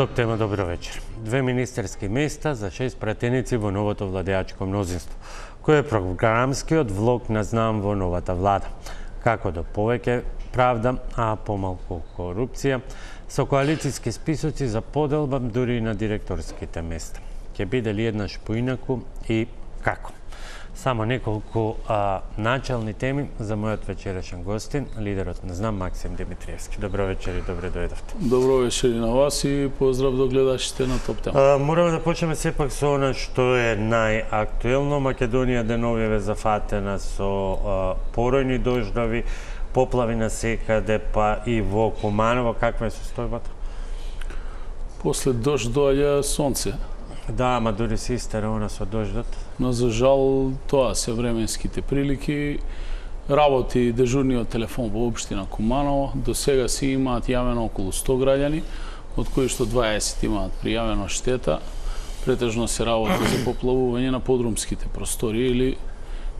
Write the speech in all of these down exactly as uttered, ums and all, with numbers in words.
Топ тема, добро вечер. Две министерски места за шест пратеници во новото владеачко мнозинство, кој е програмскиот влог на знам во новата влада. Како до повеќе правда, а помалку корупција, со коалицијски списоци за поделба дури и на директорските места. Ќе биде ли еднаш поинаку и како? Само неколку а, начални теми за мојот вечерашен гостин, лидерот на знам Максим Димитриевски. Добро вечер и добре дојдовте. Добро вечер и на вас и поздрав до гледачите на Топ тема. А, мораме да почнеме сепак со она што е најактуелно. Македонија деновиве зафатена со а, поројни дождови, поплави на секаде, па и во Куманово. Каква е состојбата? После дожд доаѓа сонце. Да, ама дури се истера она со дождот. Но за жал тоа се временските прилики. Работи дежурниот телефон во општина Куманово. До сега си имаат јавено околу сто граѓани, од кои што дваесет имаат пријавено штета. Претежно се работи за поплавување на подрумските простори или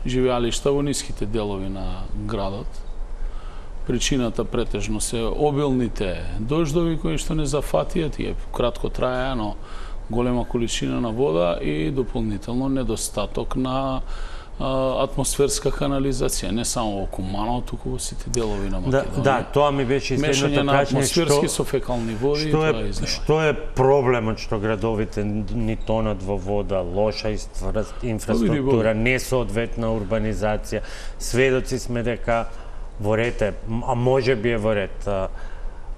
живеалишта во ниските делови на градот. Причината претежно се обилните дождови кои што не зафатија, тие кратко траја, но голема количина на вода и дополнително недостаток на а, атмосферска канализација, не само во Куманово, туку во сите делови на Македонија. Да, да, тоа ми беше мешање следното на прашање, атмосферски што, со фекални води што и е, тоа изнева. Што е проблемот што градовите ни тонат во вода, лоша инфраструктура, несоодветна урбанизација? Сведоци сме дека во ред е, а може би е во ред,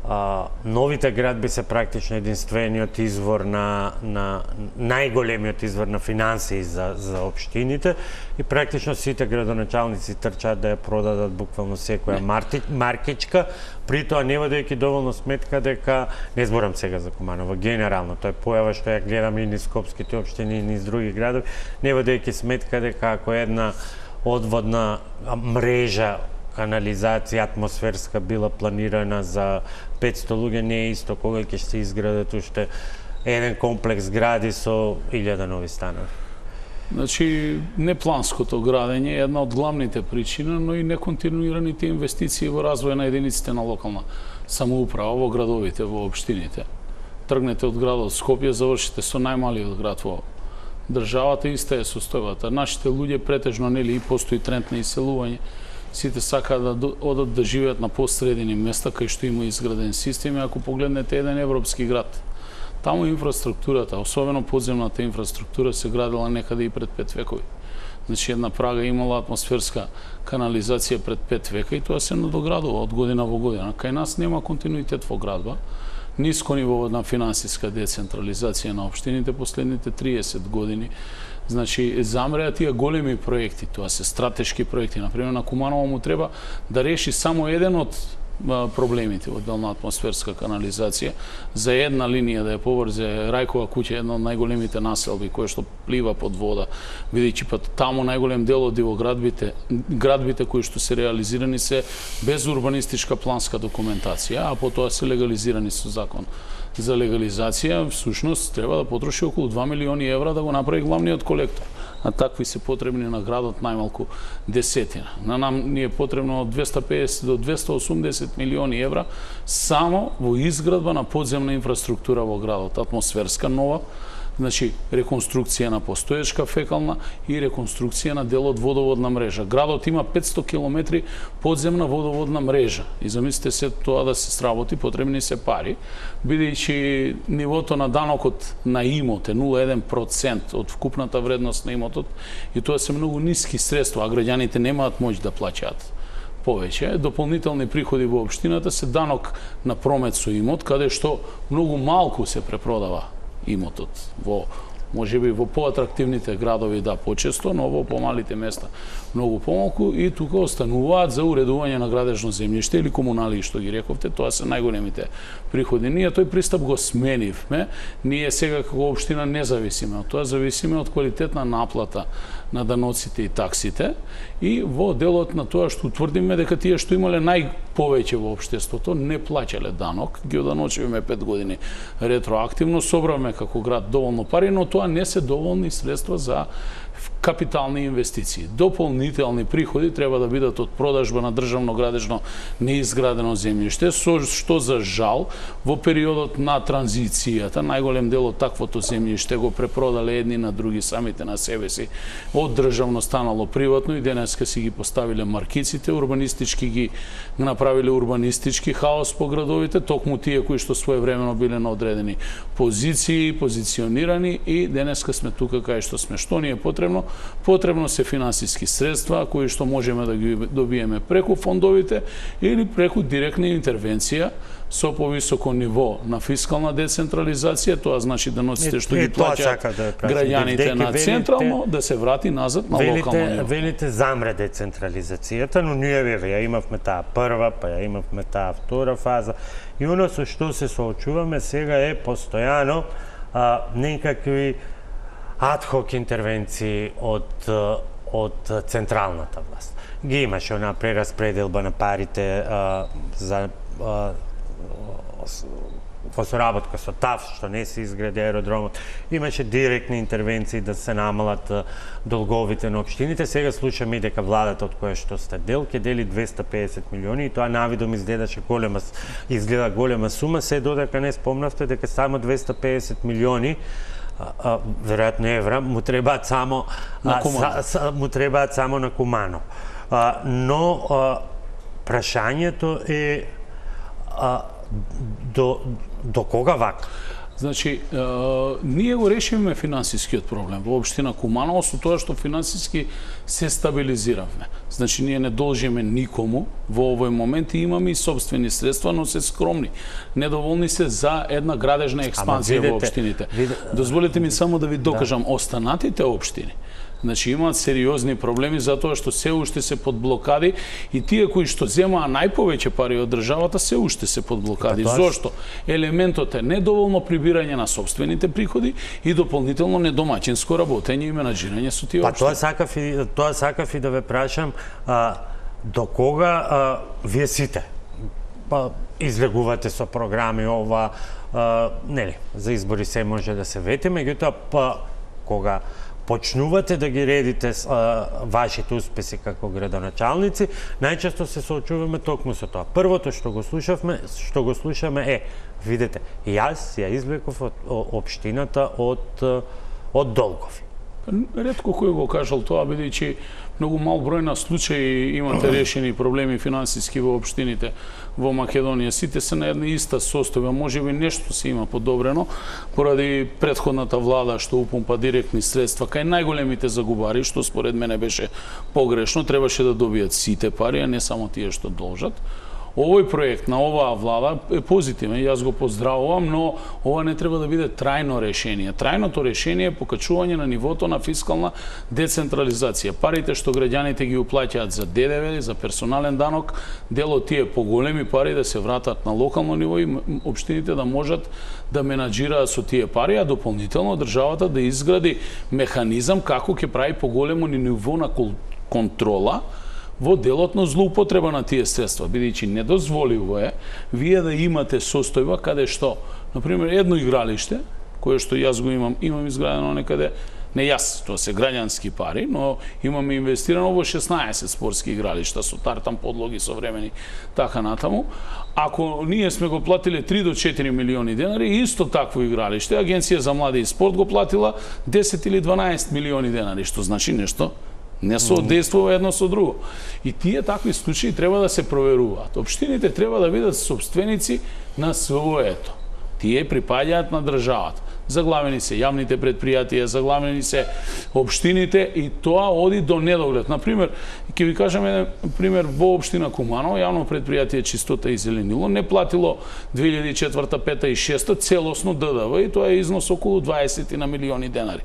А, новите градби се практично единствениот извор на, на најголемиот извор на финансии за, за општините и практично сите градоначалници трчаат да ја продадат буквално секоја марти, маркичка, при тоа не водејќи доволно сметка дека, не зборам сега за Куманово, генерално, тоа е појава што ја гледам и низ скопските општини и низ други градови, не водејќи сметка дека ако една одводна мрежа канализација атмосферска била планирана за петсто луѓе, не е исто кога ќе се изградат уште еден комплекс гради со илјада нови станови. Значи, непланското градење е една од главните причини, но и неконтинуираните инвестиции во развој на единиците на локална самоуправа во градовите, во општините. Тргнете од градот Скопје, завршите со најмалиот град во државата, иста е состојбата. Нашите луѓе претежно нели и постои тренд на иселување. Сите сакаат да одат да живеат на посредини места кај што има изграден систем. Ако погледнете еден европски град, таму инфраструктурата, особено подземната инфраструктура, се градила некаде и пред пет векови. Значи една Прага имала атмосферска канализација пред пет века и тоа се надоградува од година во година. Кај нас нема континуитет во градба. Ниско ниво на финансиска децентрализација на општините последните триесет години. Значи, замреа тие големи проекти, тоа се стратешки проекти. Например, на Куманово му треба да реши само еден од проблемите во дел на атмосферска канализација, за една линија да ја поврзе Рајкова куќа, една од најголемите населби која што плива под вода, бидејќи па таму најголем дел од во градбите, градбите кои што се реализирани се без урбанистичка планска документација, а потоа се легализирани со закон за легализација, всушност треба да потроши околу два милиони евра да го направи главниот колектор. А такви се потребни на градот најмалку десетина. На нам ни е потребно од двесте и песет до двесте и осумдесет милиони евра само во изградба на подземна инфраструктура во градот, атмосферска нова, значи реконструкција на постоечка фекална и реконструкција на дел од водоводна мрежа. Градот има петсто километри подземна водоводна мрежа. И замислите се тоа да се сработи, потребни се пари, бидејќи нивото на данокот на имот е нула целу еден процент од вкупната вредност на имотот и тоа се многу ниски средства, а граѓаните немаат моќ да плаќаат повеќе. Дополнителни приходи во општината се данок на промет со имот, каде што многу малку се препродава имотот во можеби во поатрактивните градови да почесто, но во помалите места многу помалку и тука остануваат за уредување на градежно земјиште или комунали, што ги рековте, тоа се најголемите приходи. Ние тој пристап го сменивме, ние сега како општина не зависиме од тоа, зависиме од квалитетна наплата на даноците и таксите и во делот на тоа што утврдиме дека тие што имале најповеќе во општеството не плаќале данок, ги оданочивме пет години ретроактивно, собравме како град доволно пари, но тоа не се доволни средства за капитални инвестиции. Дополнителни приходи треба да бидат од продажба на државно градежно неизградено земјиште, со што за жал во периодот на транзицијата најголем дел од таквото земјиште го препродале едни на други, самите на себе си. Од државно станало приватно и денеска си ги поставиле маркиците, урбанистички ги направиле урбанистички хаос по градовите, токму тие кои што своевремено биле на одредени позиции, позиционирани, и денеска сме тука кај што сме. Што ни е потребно? Потребно се финансиски средства кои што можеме да ги добиеме преку фондовите или преку директна интервенција со повисоко ниво на фискална децентрализација. Тоа значи да носите што ги плаќаат да граѓаните на централно, да се врати назад на велите, локално ниво. Велите замре децентрализацијата, но ние ја имавме таа прва, па ја имавме таа втора фаза. И оно со што се соочуваме сега е постојано а, некакви адхок интервенции од од централната власт. Ги имаше она прераспределба на парите а, за а, во соработка со ТАФ, што не се изгради аеродромот. Имаше директни интервенции да се намалат долговите на општините. Сега слушаме и дека владата од која што сте дел ќе дели двесте и педесет милиони, и тоа навидом изгледаше голема, изгледа голема сума, се додека не спомнавте дека само двесте и педесет милиони, а, а, веројатно евра, му требаат само на а, са, му требаат само на Кумано. А, но а, прашањето е а, до до кога вака? Значи, е, ние го решивме финансискиот проблем во општина Куманово со тоа што финансиски се стабилизиравме. Значи, ние не должиме никому во овој момент и имаме и собствени средства, но се скромни. Недоволни се за една градежна експанзија видите, во општините. Видите, Дозволете ми само да ви докажам, да. Останатите општини, значи имаат сериозни проблеми затоа што се уште се под блокади, и тие кои што земаа најповеќе пари од државата се уште се под блокади. Па, зошто? Елементот е недоволно прибирање на собствените приходи и дополнително недомаќинско работење и менаџирање со тие општини. Па тоа сакав и тоа сакав и да ве прашам, а, до кога а, вие сите па излегувате со програми ова, а, нели, за избори се може да се вети, меѓутоа па кога почнувате да ги редите а, вашите успеси како градоначалници, најчесто се соочуваме токму со тоа. Првото што го слушавме, што го слушаме е, видете, јас ја извлеков од општината од од долгови. Ретко кој го кажал тоа, бидејќи многу мал број на случаи имате решени проблеми финансиски во општините во Македонија. Сите се на една иста состојба, можеби нешто се има подобрено поради претходната влада што упумпа директни средства кај најголемите загубари, што според мене беше погрешно, требаше да добијат сите пари, а не само тие што должат. Овој проект на оваа влада е позитивен, јас го поздравувам, но ова не треба да биде трајно решение. Трајното решение е покачување на нивото на фискална децентрализација. Парите што граѓаните ги уплаќаат за ДДВ, за персонален данок, дел од тие поголеми пари да се вратат на локално ниво и општините да можат да менаџираат со тие пари, а дополнително државата да изгради механизам како ќе прави поголемо ниво на контрола во делот на злоупотреба на тие средства, бидејќи недозволиво е вие да имате состојба каде што, например, едно игралиште, кое што јас го имам, имам изградено некаде, не јас, тоа се граѓански пари, но имаме инвестирано во шеснаесет спортски игралишта со тартан подлоги современи, така натаму. Ако ние сме го платиле три до четири милиони денари, исто такво игралиште, Агенција за млади и спорт го платила десет или дванаесет милиони денари, што значи нешто не соодействува едно со друго. И тие такви случаи треба да се проверуваат. Општините треба да бидат собственици на своето. Тие припаѓаат на државата. Заглавени се јавните предпријатија, заглавени се општините, и тоа оди до недоглед. Например, ќе ви кажам еден пример, во општина Куманово, јавно предпријатие Чистота и зеленило не платило две илјади и четврта, пета и шеста целосно ДДВ, и тоа е износ околу дваесет на милиони денари.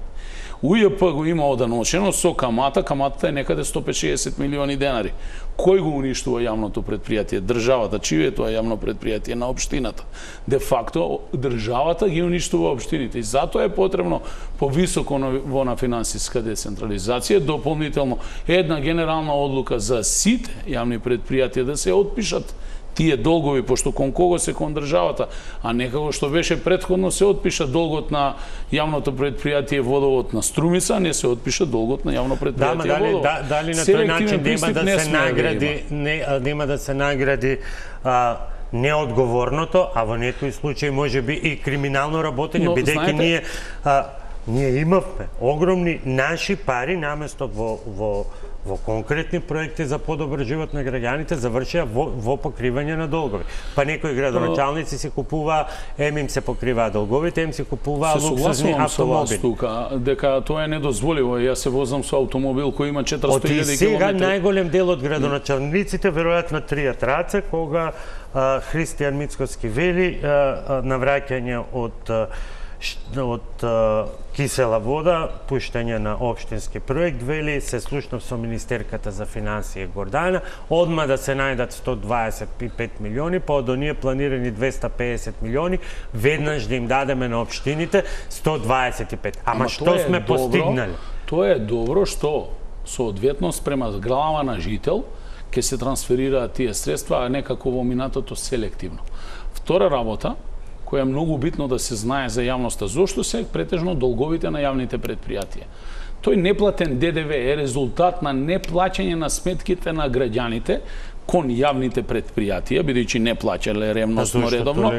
У Ј П го има оданочено со камата, каматата е некаде сто петдесет милиони денари. Кој го уништува јавното предпријатие? Државата. Чие е тоа јавно предпријатие? На општината. Де факто, државата ги уништува општините. И затоа е потребно повисоко ниво на финансиска децентрализација, дополнително една генерална одлука за сите јавни предпријатија да се отпишат тие долгови, пошто кон кого се кон државата, а некако што беше претходно се отпиша долгот на јавното предпријатие Водовод на Струмица, не се отпиша долгот на јавно предпријатие да, Водовод. Да, дали на тој начин нема да се награди, не, нема да се награди а, неодговорното, а во некои случаи може би и криминално работење, бидејќи ние а, ние имавме огромни наши пари наместо во во во конкретни проекти за подобар живот на граѓаните завршија во, во покривање на долгови. Па некои градоначалници се купуваа, ем им се покриваа долговите, ем се купуваа луксузни автомобили. Тука, дека тоа е недозволиво. Јас се возам со автомобил кој има четиристотини илјади километри. Од сега најголем дел од градоначалниците веројатно тријат раце кога а, Христијан Мицкоски вели а, а, навраќање од а, од а, кисела вода, пуштање на општински проект, вели, се слушнав со министерката за финансија Гордана, одма да се најдат сто дваесет и пет милиони, па од оние планирани двеста педесет милиони, веднаш да им дадеме на општините сто дваесет и пет. Ама, Ама што сме добро, постигнали? Тоа е добро што соодветно спрема глава на жител ќе се трансферираат тие средства, а не како во минатото селективно. Втора работа, која е многу битно да се знае за јавноста, зошто се претежно долговите на јавните предпријатија. Тој неплатен Д Д В е резултат на неплаќање на сметките на граѓаните кон јавните предпријатија, бидејќи не плаќале ревностно редовно.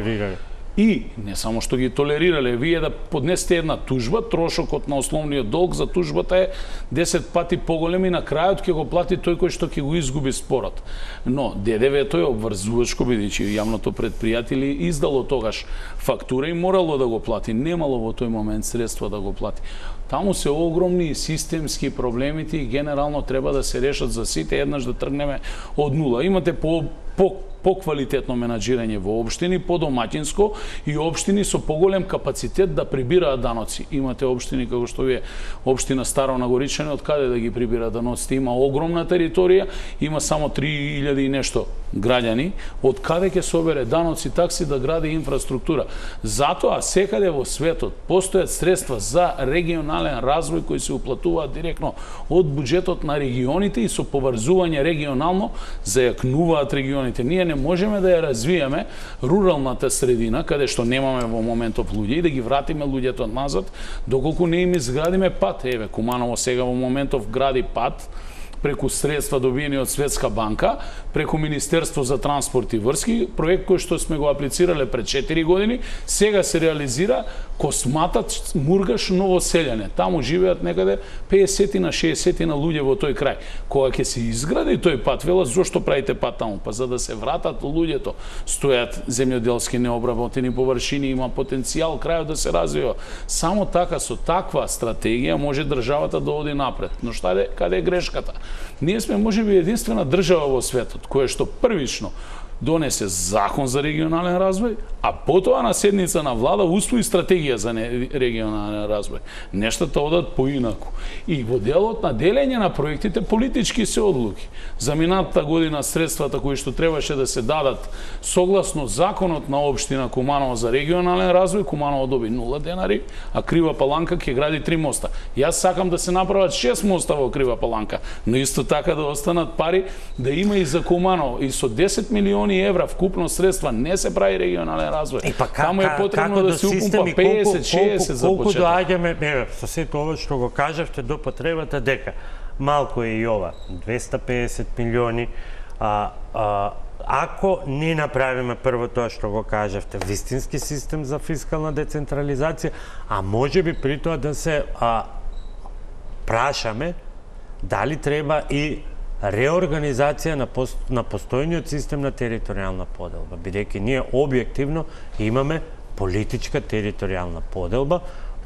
И не само што ги толерирале, вие да поднесете една тужба, трошокот на основниот долг за тужбата е десет пати поголем и на крајот ќе го плати тој кој што ќе го изгуби спорот. Но Д Д В-то е обврзувачко, бидејќи јавното предпријатие издало тогаш фактура и морало да го плати, немало во тој момент средства да го плати. Таму се огромни системски проблемите и генерално треба да се решат за сите, еднаш да тргнеме од нула. Имате по по поквалитетно менаџирање во општини, подомаќинско и општини со поголем капацитет да прибираат даноци. Имате општини како што вие општина Старо Нагоричани, од каде да ги прибира даноците? Има огромна територија, има само три илјади и нешто граѓани, од каде ќе собере даноци, такси да гради инфраструктура. Затоа секаде во светот постојат средства за регионален развој кои се уплатуваат директно од буџетот на регионите и со поврзување регионално зајакнуваат регионите. Ние не можеме да ја развиеме руралната средина, каде што немаме во моментов луѓе, и да ги вратиме луѓето назад, доколку не им изградиме пат. Еве, Куманово сега во моментов гради пат, преку средства добиени од Светска банка, преку Министерство за транспорт и врски, проект кој што сме го аплицирале пред четири години, сега се реализира Косматат Мургаш Новоселјане. Таму живеат некаде педесет на шеесет на луѓе во тој крај. Кога ќе се изгради тој пат, велат, зошто правите пат таму? Па за да се вратат луѓето. Стојат земјоделски необработени површини, има потенцијал крајот да се развива. Само така, со таква стратегија може државата да оди напред. Но шта е, каде е грешката? Ние сме можеби единствена држава во светот која што првично донесе закон за регионален развој, а потоа на седница на влада усвои стратегија за регионален развој. Нештата одат поинаку. И во делот на делење на проектите политички се одлуки. За минатата година средствата кои што требаше да се дадат согласно законот на општина Куманово за регионален развој, Куманово доби нула денари, а Крива Паланка ќе гради три моста. Јас сакам да се направат шест моста во Крива Паланка, но исто така да останат пари да има и за Куманово. И со десет милиони евра вкупно средства не се прави регионален развој. Па, Таму е потребно да се упумпа педесет шеесет за почеток. Колку доаѓаме, еве, со сето ова што го кажавте до потребата дека малку е и ова, двеста педесет милиони, а, а, ако не направиме прво тоа што го кажавте, вистински систем за фискална децентрализација, а може би при тоа да се а, прашаме дали треба и реорганизација на, пост, на постојниот систем на територијална поделба, бидејќи ние објективно имаме политичка територијална поделба,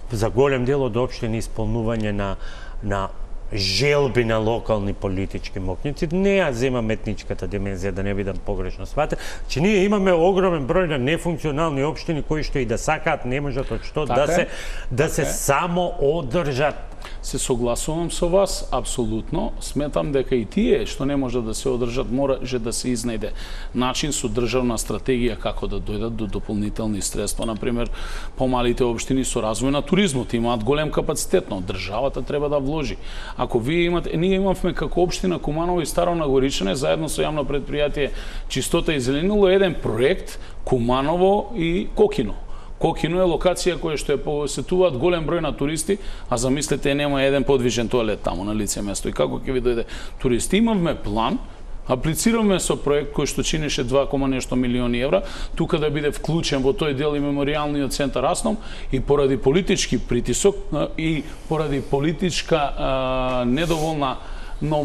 за голем дел од општини исполнување на, на желби на локални политички мокњици. Не ја земам етничката димензија, да не бидам погрешно сватен, че ние имаме огромен број на нефункционални општини кои што и да сакаат не можат од што така да се да се само одржат. се согласувам со вас, апсолутно. Сметам дека и тие што не може да се одржат, може да се изнајде начин со државна стратегија како да дојдат до дополнителни средства. Например, помалите општини со развој на туризмот имаат голем капацитет, но државата треба да вложи. Ако вие имате, ние имавме како општина Куманово и Старо Нагоричане, заедно со јавно предпријатие Чистота и зеленило, еден проект Куманово и Кокино. Кокино е локација која што ја посетуваат голем број на туристи, а замислете нема еден подвижен тоалет таму на лице место. И како ќе ви дојде туристи? Имавме план, аплицираме со проект кој што чинеше два кома нешто милиони евра, тука да биде вклучен во тој дел и меморијалниот центар Асном, и поради политички притисок и поради политичка а, недоволна но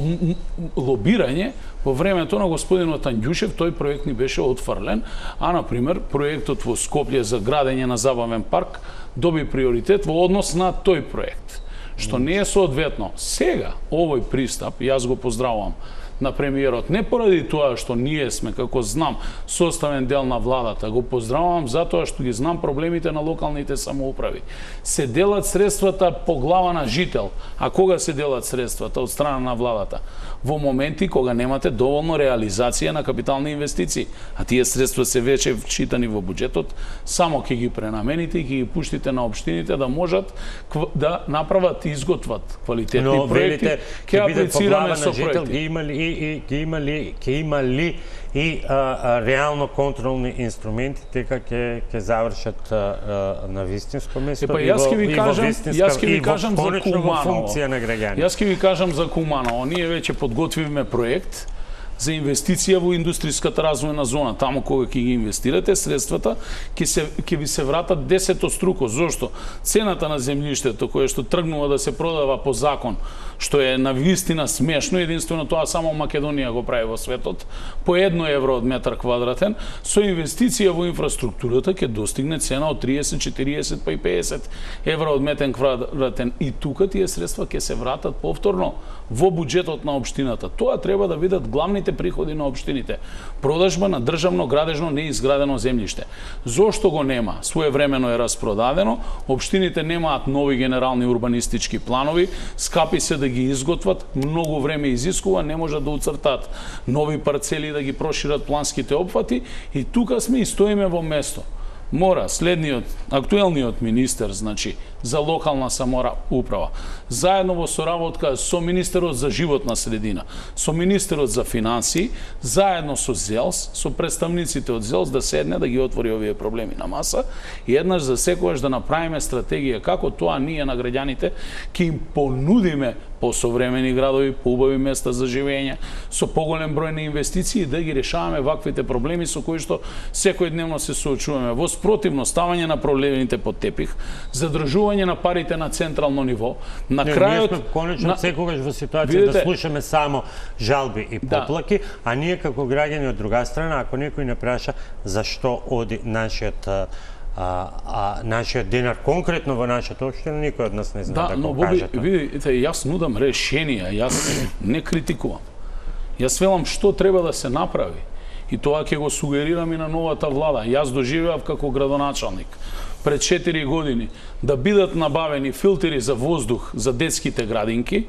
лобирање во времето на господинот Анѓушев тој проект ни беше отфрлен, а например проектот во Скопје за градење на забавен парк доби приоритет во однос на тој проект, што не е соодветно. Сега овој пристап, јас го поздравувам на премиерот, не поради тоа што ние сме, како знам, составен дел на владата, го поздравувам затоа што ги знам проблемите на локалните самоуправи. Се делат средствата по глава на жител, а кога се делат средствата од страна на владата? Во моменти кога немате доволно реализација на капитални инвестиции, а тие средства се веќе вчитани во буџетот, само ќе ги пренамените и ќе ги пуштите на општините да можат да направат и изготват квалитетни Но, проекти, ќе аплицираме со проекти. Ги имали и ќе има ли ќе има ли и а, а, реално контролни инструменти дека ќе ќе завршат а, а, на вистинско место Епа, јас ќе ви кажам, јас ќе ви кажам за Куманово. Функција на граѓани. Јас ќе ви кажам за Куманово. Ние веќе подготвивме проект за инвестиција во индустријската развојна зона. Таму кога ќе ги инвестирате средствата, ќе се ќе ви се вратат десетоструко. Зошто? Цената на земјиштето кое што тргнува да се продава по закон, што е на вистина смешно, единствено тоа само Македонија го прави во светот, по едно евро од метар квадратен, со инвестиција во инфраструктурата ќе достигне цена од триесет, четириесет па и пеесет евро од метар квадратен. И тука тие средства ќе се вратат повторно во буџетот на општината. Тоа треба да видат главните приходи на општините. Продажба на државно градежно неизградено земјиште. Зошто го нема? Своевремено е распродадено, општините немаат нови генерални урбанистички планови, скапи се да ги изготват, многу време изискува, не можат да уцртаат нови парцели да ги прошират планските опфати, и тука сме и стоиме во место. Мора следниот, актуелниот министер, значи, за локална самоуправа, заедно во соработка со министерот за животна средина, со министерот за финансии, заедно со ЗЕЛС, со представниците од ЗЕЛС, да седне да ги отвори овие проблеми на маса и еднаш за секогаш да направиме стратегија како тоа ние на граѓаните ќе им понудиме посовремени градови, поубави места за живење, со поголем број на инвестиции, да ги решаваме ваквите проблеми со кои што секојдневно се соочуваме. Во спротивно, ставање на проблемите под тепих, задржување на парите на централно ниво, на не, крајот... Ние сме конечно на... секогаш во ситуација Видите... да слушаме само жалби и поплаки, да. А ние како граѓани од друга страна, ако некој не праша зашто оди нашиот А, а нашиот денар конкретно во нашата општина, никој од нас не знае да, да го Боби, каже тоа. Видите, јас нудам решенија, јас не критикувам. Јас велам што треба да се направи. И тоа ќе го сугерирам и на новата влада. Јас доживеав како градоначалник пред четири години да бидат набавени филтери за воздух за детските градинки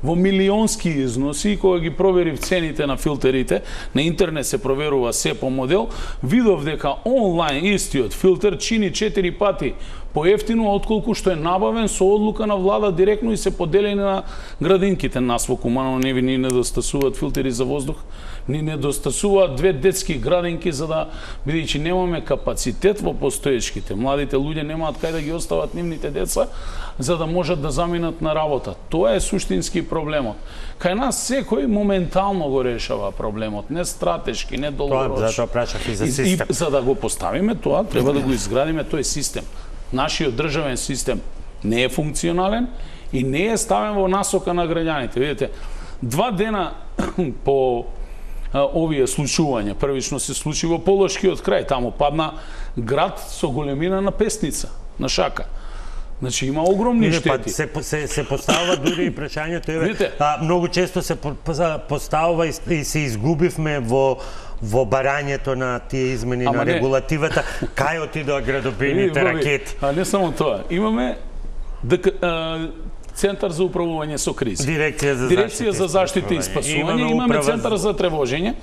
во милионски износи, кога ги проверив цените на филтерите, на интернет се проверува се по модел, видов дека онлайн истиот филтер чини четири пати поевтино отколку што е набавен со одлука на влада директно и се поделени на градинките. Нас во Куманово не ви ни недостасуваат филтери за воздух, ни недостасуваат две детски градинки, за да, бидејќи немаме капацитет во постоечките. Младите луѓе немаат кај да ги остават нивните деца, за да можат да заминат на работа. Тоа е суштински проблемот. Кај нас секој моментално го решава проблемот, не стратешки, не долгорочно. Тоа затоа прашав и за систем. И, и за да го поставиме тоа, треба да го изградиме тој систем. Нашиот државен систем не е функционален и не е ставен во насока на граѓаните. Видите, два дена по а, овие случувања, првично се случи во Полошкиот крај, таму падна град со големина на Песница, на Шака. Значи има огромни Виде, штети. Па, се, се, се поставува дури и прашањето, еве, а, многу често се поставува и, и се изгубивме во во барањето на тие измени Ама на не. регулативата, кај отидоа градобините ракети. А не само тоа, имаме дека Центар за управување со кризи. Дирекција за Дирекција за заштита и спасување, имаме Центар за тревожење,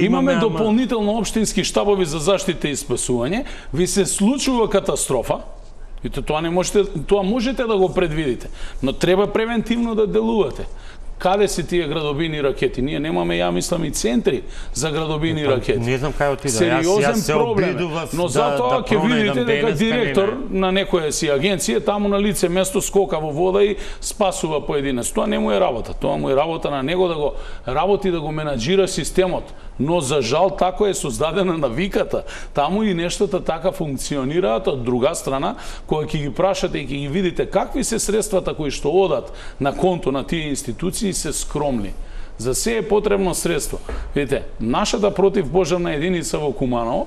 имаме дополнително општински штабови за заштита и спасување. Ви се случува катастрофа, и тоа не можете, тоа можете да го предвидите, но треба превентивно да делувате. Каде се тие градобини ракети? Ние немаме, ја мислам, и центри за градобини ракети. Не знам кај отида. Сериозен проблем. Но затоа ќе видите дека директор на некоја си агенција таму на лице место скока во вода и спасува поединец. Тоа не му е работа. Тоа му е работа на него да го работи, да го менаџира системот. Но за жал тако е создадена навиката. Таму и нештата така функционираат. Од друга страна, кога ќе ги прашате и ќе ги видите какви се средствата кои што одат на конто на тие институции, се скромни. За се е потребно средство. Видите, нашата противпожарна единица во Куманово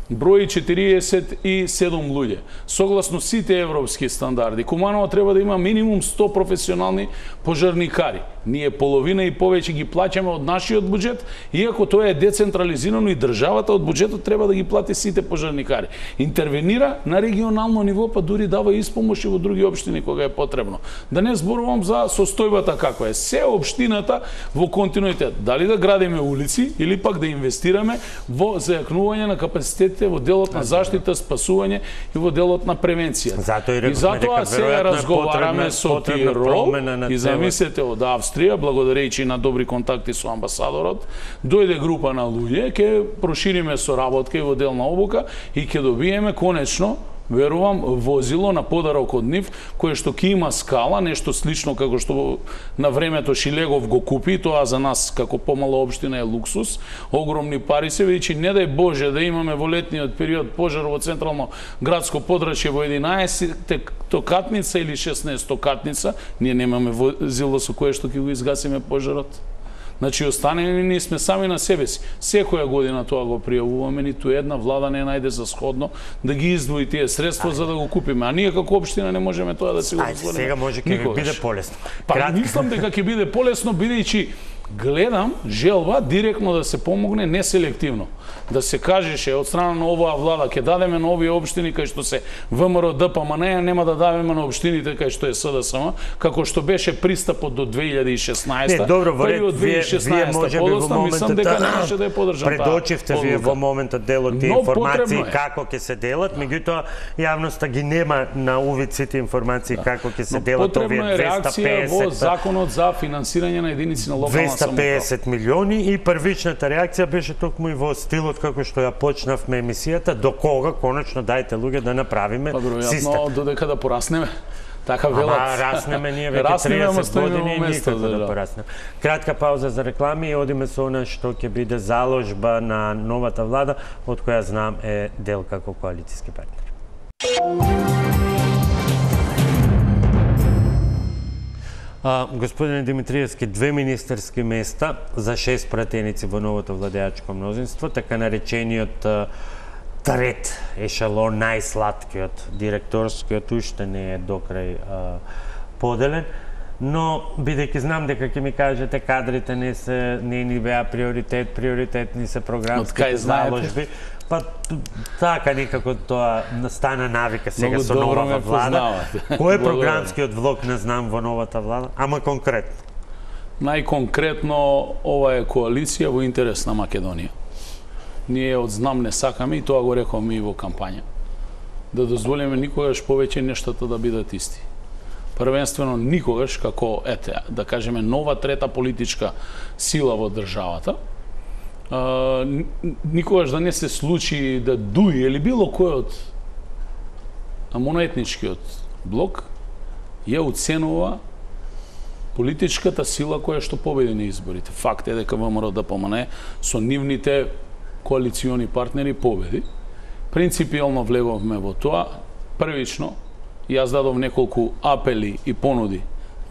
брои четириесет и седум луѓе. Согласно сите европски стандарди, Куманово треба да има минимум сто професионални пожарникари. Ние половина и повеќе ги плаќаме од нашиот буџет, иако тоа е децентрализирано и државата од буџетот треба да ги плати сите пожарникари. Интервенира на регионално ниво, па дури дава испомош и во други општини кога е потребно. Да не зборувам за состојбата каква е. Се општината во континуитет. Дали да градиме улици или пак да инвестираме во зајакнување на капацитетите во делот на заштита, спасување и во делот на превенција. Затоа и затоа сега разговараме со Тирол и замислете од Австрија, благодарејќи на добри контакти со амбасадорот, дојде група на луѓе, ќе прошириме соработка и во дел на обука и ќе добиеме конечно, верувам, возило на подарок од нив, кое што ќе има скала, нешто слично како што на времето Шилегов го купи, тоа за нас како помала општина е луксус, огромни пари се, бидејќи не дај Боже да имаме во летниот период пожар во централно градско подрачје во единаесеттокатница или шеснаесеттокатница, ние немаме возило со кое што ќе го изгасиме пожарот. Значи, останени ние сме сами на себе си. Секоја година тоа го пријавуваме, ниту една влада не најде за сходно да ги издвои тие средства за да го купиме. А ние како општина не можеме тоа да си го дозволиме. Сега може ќе ви биде полесно. Па Кратко. Мислам дека ќе биде полесно, бидејќи гледам желба директно да се помогне, не селективно. Да се кажеше од страна на оваа влада ќе дадеме на овие општини кај што се ВМРО, ДПМН, нема да дадеме на општините кај што е СДСМ, како што беше пристапот до две илјади и шеснаесета. Не, добро, вие, вие, вие може би во моментот дека немаше да е подржан. Предочивте вие во моментот дел од тие информации како ќе се делат, меѓутоа јавноста ги нема на увид сите информации да. Како ќе се делат овие двеста песет. Во законот за финансирање на единици на локална двеста песет милиони и првичната реакција беше токму и во стилот како што ја почнавме емисијата, до кога конечно дајте луѓе да направиме систем. Веројатно додека да пораснеме. Така велат. Ама раснеме ние веќе триесет години и никако да пораснеме. Кратка пауза за реклами и одиме со она што ќе биде заложба на новата влада, од која знам е дел како коалициски партнер. А, господине Димитриевски, две министерски места за шест пратеници во новото владеачко мнозинство, така наречениот а, трет ешелон, најслаткиот, директорскиот уште не е докрај а, поделен, но бидејќи знам дека ќе ми кажете кадрите не се не ни беа приоритет, приоритетни се програмските заложби. Па така некако тоа стана навика сега со новата влада. Кој е програмскиот влог не знам во новата влада, ама конкретно? Најконкретно ова е коалиција во интерес на Македонија. Ние од знам не сакаме и тоа го рековме и во кампања. Да дозволиме никогаш повеќе нештата да бидат исти. Првенствено никогаш како ете, да кажеме нова трета политичка сила во државата, Uh, никогаш да не се случи да ДУИ или било кој од моноетничкиот блок ја уценува политичката сила која што победи на изборите. Факт е дека ВМРО ДПМН со нивните коалициони партнери победи. Принципијално влеговме во тоа. Првично, јас дадов неколку апели и понуди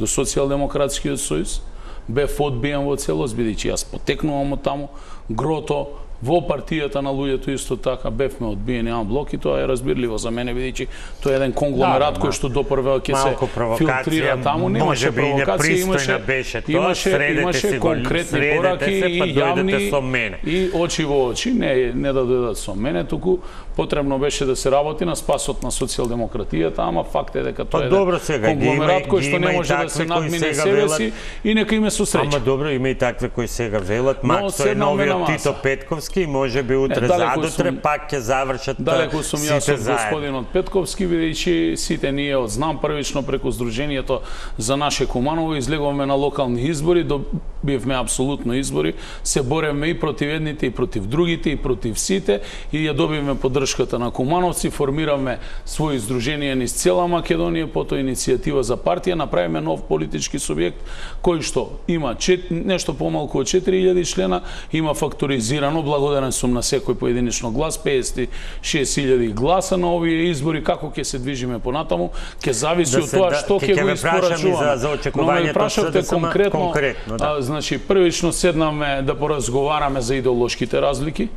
до Социјалдемократскиот сојуз, бев одбиен во целост, бидејќи јас потекнувам од таму, грото Во партијата на луѓето исто така бевме одбиени ан блок и тоа е разбирливо за мене, бидејќи тоа е еден конгломерат да, кој што допрва ќе се филтрира таму, немаше провокација, имаше беше тоа, имаше имаше конкретни пораки и јавни и очи во очи, не не да дојдат со мене, туку потребно беше да се работи на спасот на социјалдемократијата, ама факт е дека тоа е добро, сега, конгломерат кој што не може да се надмине себе си и нека име со среќа. Ама добро, има и такви кои сега велат, Максо е новиот Тито Петковски и може би утре задутре пак ќе завршат далеку сум јас од господинот Петковски, бидејќи сите ние од знам првично преку Сдруженијето за наше Куманово излегуваме на локални избори, добивме апсолутно избори, се боревме и против едните и против другите и против сите и ја добивме поддршката на кумановци, формиравме своји здруженија низ цела Македонија, потоа иницијатива за партија, направиме нов политички субјект кој што има чет, нешто помалку од четири илјади члена, има факторизирано, благодарен сум на секој поединечно глас, песет и шест илјади гласа на овие избори, како ќе се движиме понатаму, ќе зависи од тоа што ќе го испорачуваме. Но ме прашавте конкретно, конкретно да. а, значи првично седнаме да поразговараме за идеолошките разлики,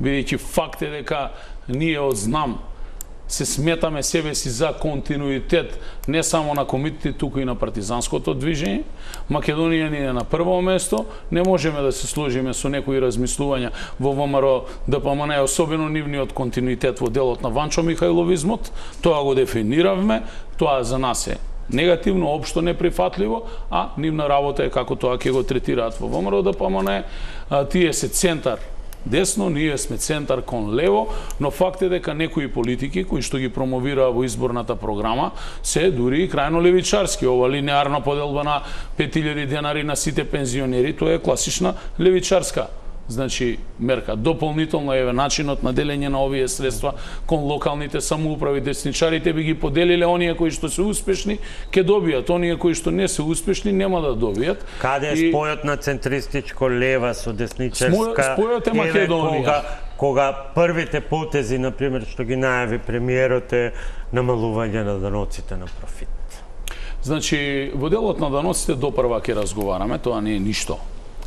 бидејќи факт е дека ние од знам се сметаме себе си за континуитет не само на комитетите, туку и на партизанското движење. Македонија ни е на прво место, не можеме да се сложиме со некои размислувања во ВМРО ДПМН, особено нивниот континуитет во делот на Ванчо Михајловизмот, тоа го дефиниравме, тоа за нас е негативно, општо неприфатливо, а нивна работа е како тоа ќе го третираат во ВМРО ДПМН, тие се центар десно, ние сме центар кон лево, но факт е дека некои политики кои што ги промовираа во изборната програма се дури и крајно левичарски. Ова линеарна поделба на пет илјади денари на сите пензионери, тоа е класична левичарска значи мерка. Дополнително е начинот на делење на овие средства кон локалните самоуправи. Десничарите би ги поделиле, оние кои што се успешни ќе добијат, оние кои што не се успешни нема да добијат. Каде е спојот на центристичко лева со десничарска? Спојот е Македонија. Кога, кога првите потези, например, што ги најави премиерот е намалување на даноците на профит. Значи, во делот на даноците допрва ќе разговараме, тоа не е ништо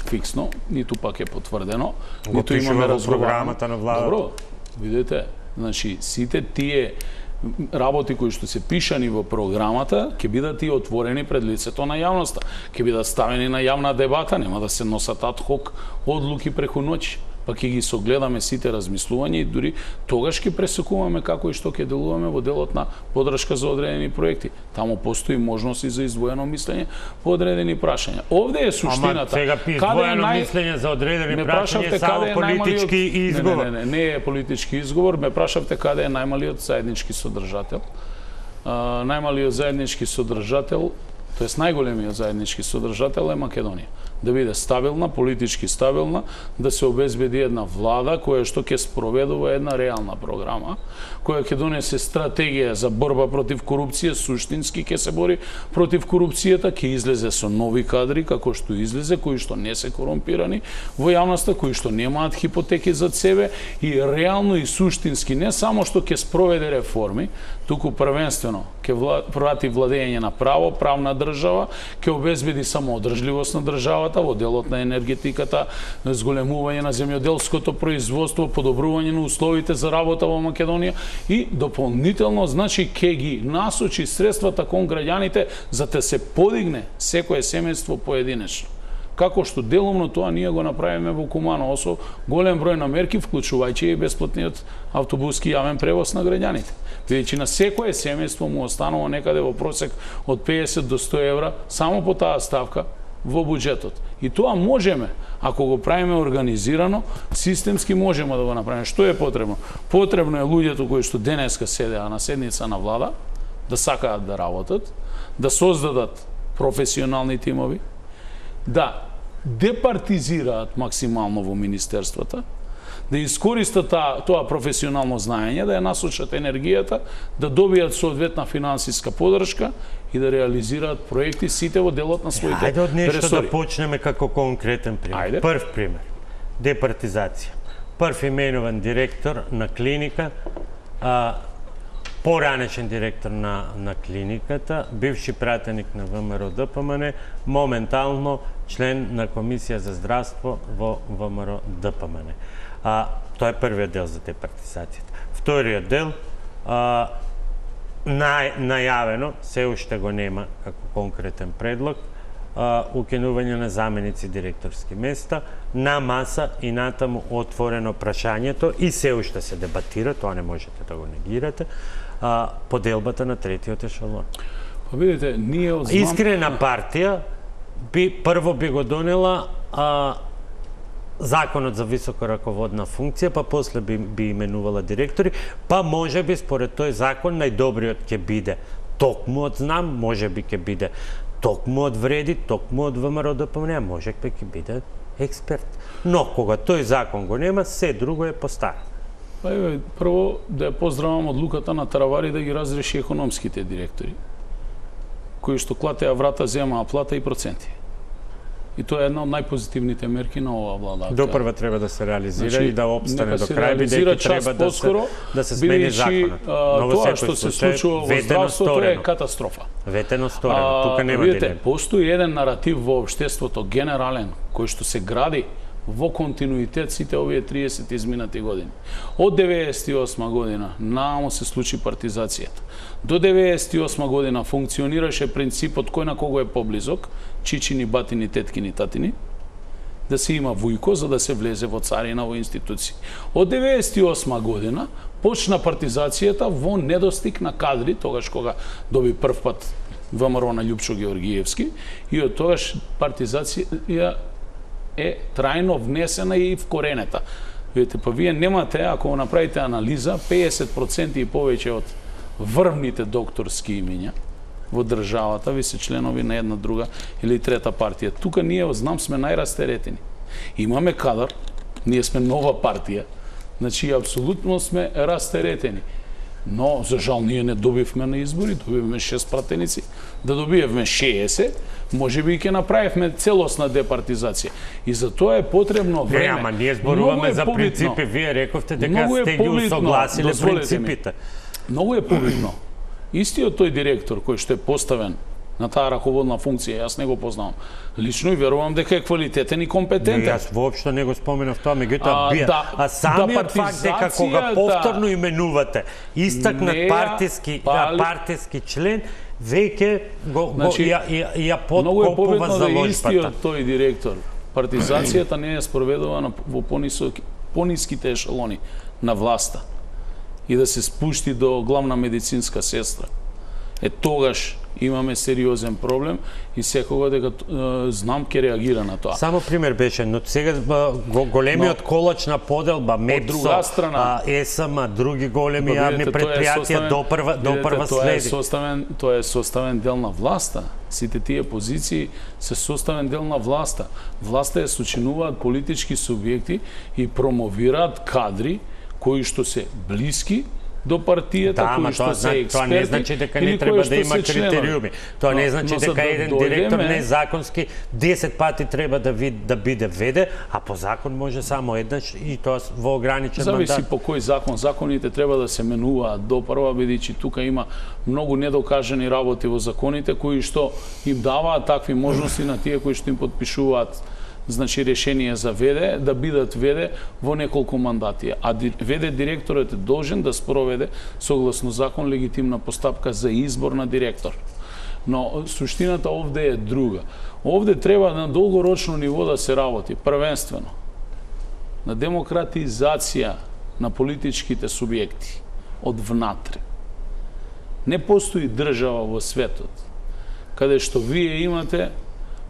фиксно, ниту пак е потврдено, го ниту имаме програмата на владата. Добро, видите, значи сите тие работи кои што се пишани во програмата ќе бидат и отворени пред лицето на јавноста, ќе бидат ставени на јавна дебата, нема да се носат ад хок одлуки преку ноќ, па ќе ги согледаме сите размислувања и дури тогаш ќе пресекуваме како и што ќе делуваме во делот на поддршка за одредени проекти. Таму постои можност и за издвоено мислење по одредени прашања. Овде е суштината. Ама сега издвоено нај... мислење за одредени прашања е само политички најмалиот... изговор. Не, не, не, не е политички изговор. Ме прашавте каде е најмалиот заеднички содржател. Uh, најмалиот заеднички содржател, тоест најголемиот заеднички содржател е Македонија. Да биде стабилна, политички стабилна, да се обезбеди една влада која што ќе спроведува една реална програма, која ќе донесе стратегија за борба против корупција, суштински ќе се бори против корупцијата, ќе излезе со нови кадри како што излезе, кои што не се корумпирани во јавноста, кои што немаат хипотеки за себе и реално и суштински не само што ќе спроведе реформи, туку првенствено ќе врати владење на право, правна држава, ќе обезбеди самоодржливост на државата во делот на енергетиката, зголемување на земјоделското производство, подобрување на условите за работа во Македонија и дополнително, значи, ќе ги насочи средствата кон граѓаните за да се подигне секое семејство поединечно. Како што делумно тоа ние го направиме во Куманово со голем број на мерки, вклучувајќи и бесплатниот автобуски јавен превоз на граѓаните. Бидејќи на секое семејство му останува некаде во просек од педесет до сто евра само по таа ставка во буџетот. И тоа можеме, ако го правиме организирано, системски можеме да го направиме. Што е потребно? Потребно е луѓето кои што денеска седеа на седница на влада да сакаат да работат, да создадат професионални тимови, да департизираат максимално во министерствата, да искористат тоа професионално знаење, да ја насочат енергијата, да добијат соодветна финансиска поддршка и да реализираат проекти сите во делот на своите ресори. Ајде од нешто ресори. Да почнеме како конкретен пример. Ајде. Прв пример. Департизација. Прв именуван директор на клиника, а, поранешен директор на, на клиниката, бивши пратеник на ВМРО ДПМН, моментално член на Комисија за здравство во ВМРО ДПМН. А, тоа е првиот дел за департизацијата. Вториот дел, а, на, најавено, се уште го нема како конкретен предлог, а, укинување на заменици директорски места, на маса и натаму отворено прашањето и се уште се дебатира, тоа не можете да го негирате, а, поделбата на третиот ешелон. Па видите, ние од знам... Искрена партија би прво би го донела а, законот за висока раководна функција, па после би, би именувала директори, па може би според тој закон најдобриот ќе биде токму од знам, може би ќе биде токму од вреди, токму од ВМРО ДПМН, може би ќе биде експерт. Но кога тој закон го нема, се друго е постарано. Па еве, прво да ја поздравам одлуката на Таравари да ги разреши економските директори, кои што клатеа врата, земаа плата и проценти. И тоа е една од најпозитивните мерки на оваа влада. Допрва треба да се реализира, значи, и да опстане до крај, бидејќи треба да се, да се смени законот. Тоа што се случува во здравството е катастрофа. Ветено сторено, тука нема видите, дилема. Постои еден наратив во општеството генерален, кој што се гради во континуитет сите овие триесет изминати години. Од деветдесет и осма година наamo се случи партизацијата. До деветдесет и осма година функционираше принципот кој на кого е поблизок, чичини, батини, теткини, татини, да се има вујко за да се влезе во царина, во институции. Од деветдесет и осма година почна партизацијата во недостиг на кадри, тогаш кога доби прв пат ВМРО на Љупчо Георгиевски, и од тогаш партизација е трајно внесена и вкоренета. Видите, па вие немате, ако направите анализа, пеесет проценти и повеќе од врвните докторски имиња во државата ви се членови на една, друга или трета партија. Тука ние, знам, сме најрастеретени. Имаме кадар, ние сме нова партија, значи апсолутно сме растеретени. Но, за жал, ние не добивме на избори, добивме шест пратеници, да добиевме шеесет, може би и ќе направивме целосна департизација. И за тоа е потребно време. Не, ама ние зборуваме за принципи, вие рековте дека сте ги усогласиле принципите. Многу е побитно. Истиот тој директор кој што е поставен на таа раководна функција, јас не го познавам лично и верувам дека е квалитетен и компетентен. Не, јас воопшто не го споменав тоа, меѓутоа бија. Да, а самиот да факт дека кога повторно именувате истакнат партиски, пали... партиски член, веќе го, значи, го ја, ја, ја подкопува за да ложбата. Истиот тој директор, партизацијата не е спроведувана во понисоки, пониските ешелони на власта и да се спушти до главна медицинска сестра. Е тогаш имаме сериозен проблем и секога дека е, знам ке реагира на тоа. Само пример беше, но сега го, големиот но, колач на поделба, МЕПСО, страна, ЕСМ, други големи јавни предпријатија до прва до прва тоа следи. Е составен, тоа е составен дел на власта. Сите тие позиции се составен дел на власта. Власта е сочинуваат политички субјекти и промовираат кадри кои што се блиски до партијата, да, кои што се експерти, тоа не значи дека не треба да има критериуми. Тоа не значи дека еден директор незаконски десет пати треба да ви, да биде веде, а по закон може само еднаш и тоа во ограничен мандат. Зависи по кој закон. Законите треба да се менуваат до прва, бидејќи тука има многу недокажани работи во законите кои што им даваат такви можности на тие кои што им подпишуваат значи решение за веде, да бидат веде во неколку мандати. А веде директорот е должен да спроведе согласно закон легитимна постапка за избор на директор. Но суштината овде е друга. Овде треба на долгорочно ниво да се работи, првенствено на демократизација на политичките субјекти од внатре. Не постои држава во светот каде што вие имате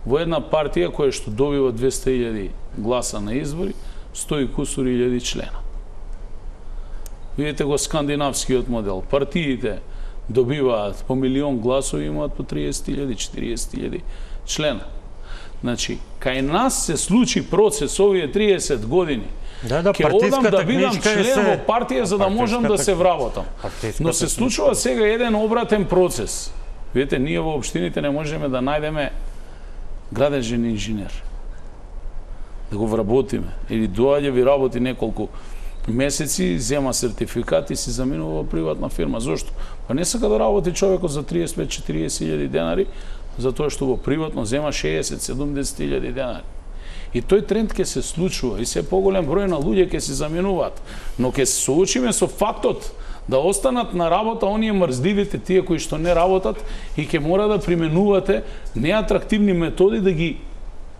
во една партија која што добива двесте илјади гласа на избори, сто и кусур илјади члена. Видите го скандинавскиот модел. Партиите добиваат по милион гласови, имаат по триесет илјади, четириесет илјади члена. Значи, кај нас се случи процес овие триесет години. Да, да, ќе одам да бидам член се... во партија за да можам да се вработам. Но се случува сега еден обратен процес. Видите, ние во општините не можеме да најдеме градежен инженер. Да го вработиме. Или доаѓа ви работи неколку месеци, зема сертификат и се заминува во приватна фирма. Зошто? Па не сака да работи човекот за триесет до четириесет илјади денари, затоа што во приватно зема шеесет до седумдесет илјади денари. И тој тренд ќе се случува и се поголем број на луѓе ќе се заменуваат. Но ќе се соочиме со фактот да останат на работа оние мрзливите, тие кои што не работат, и ќе мора да применувате неатрактивни методи да ги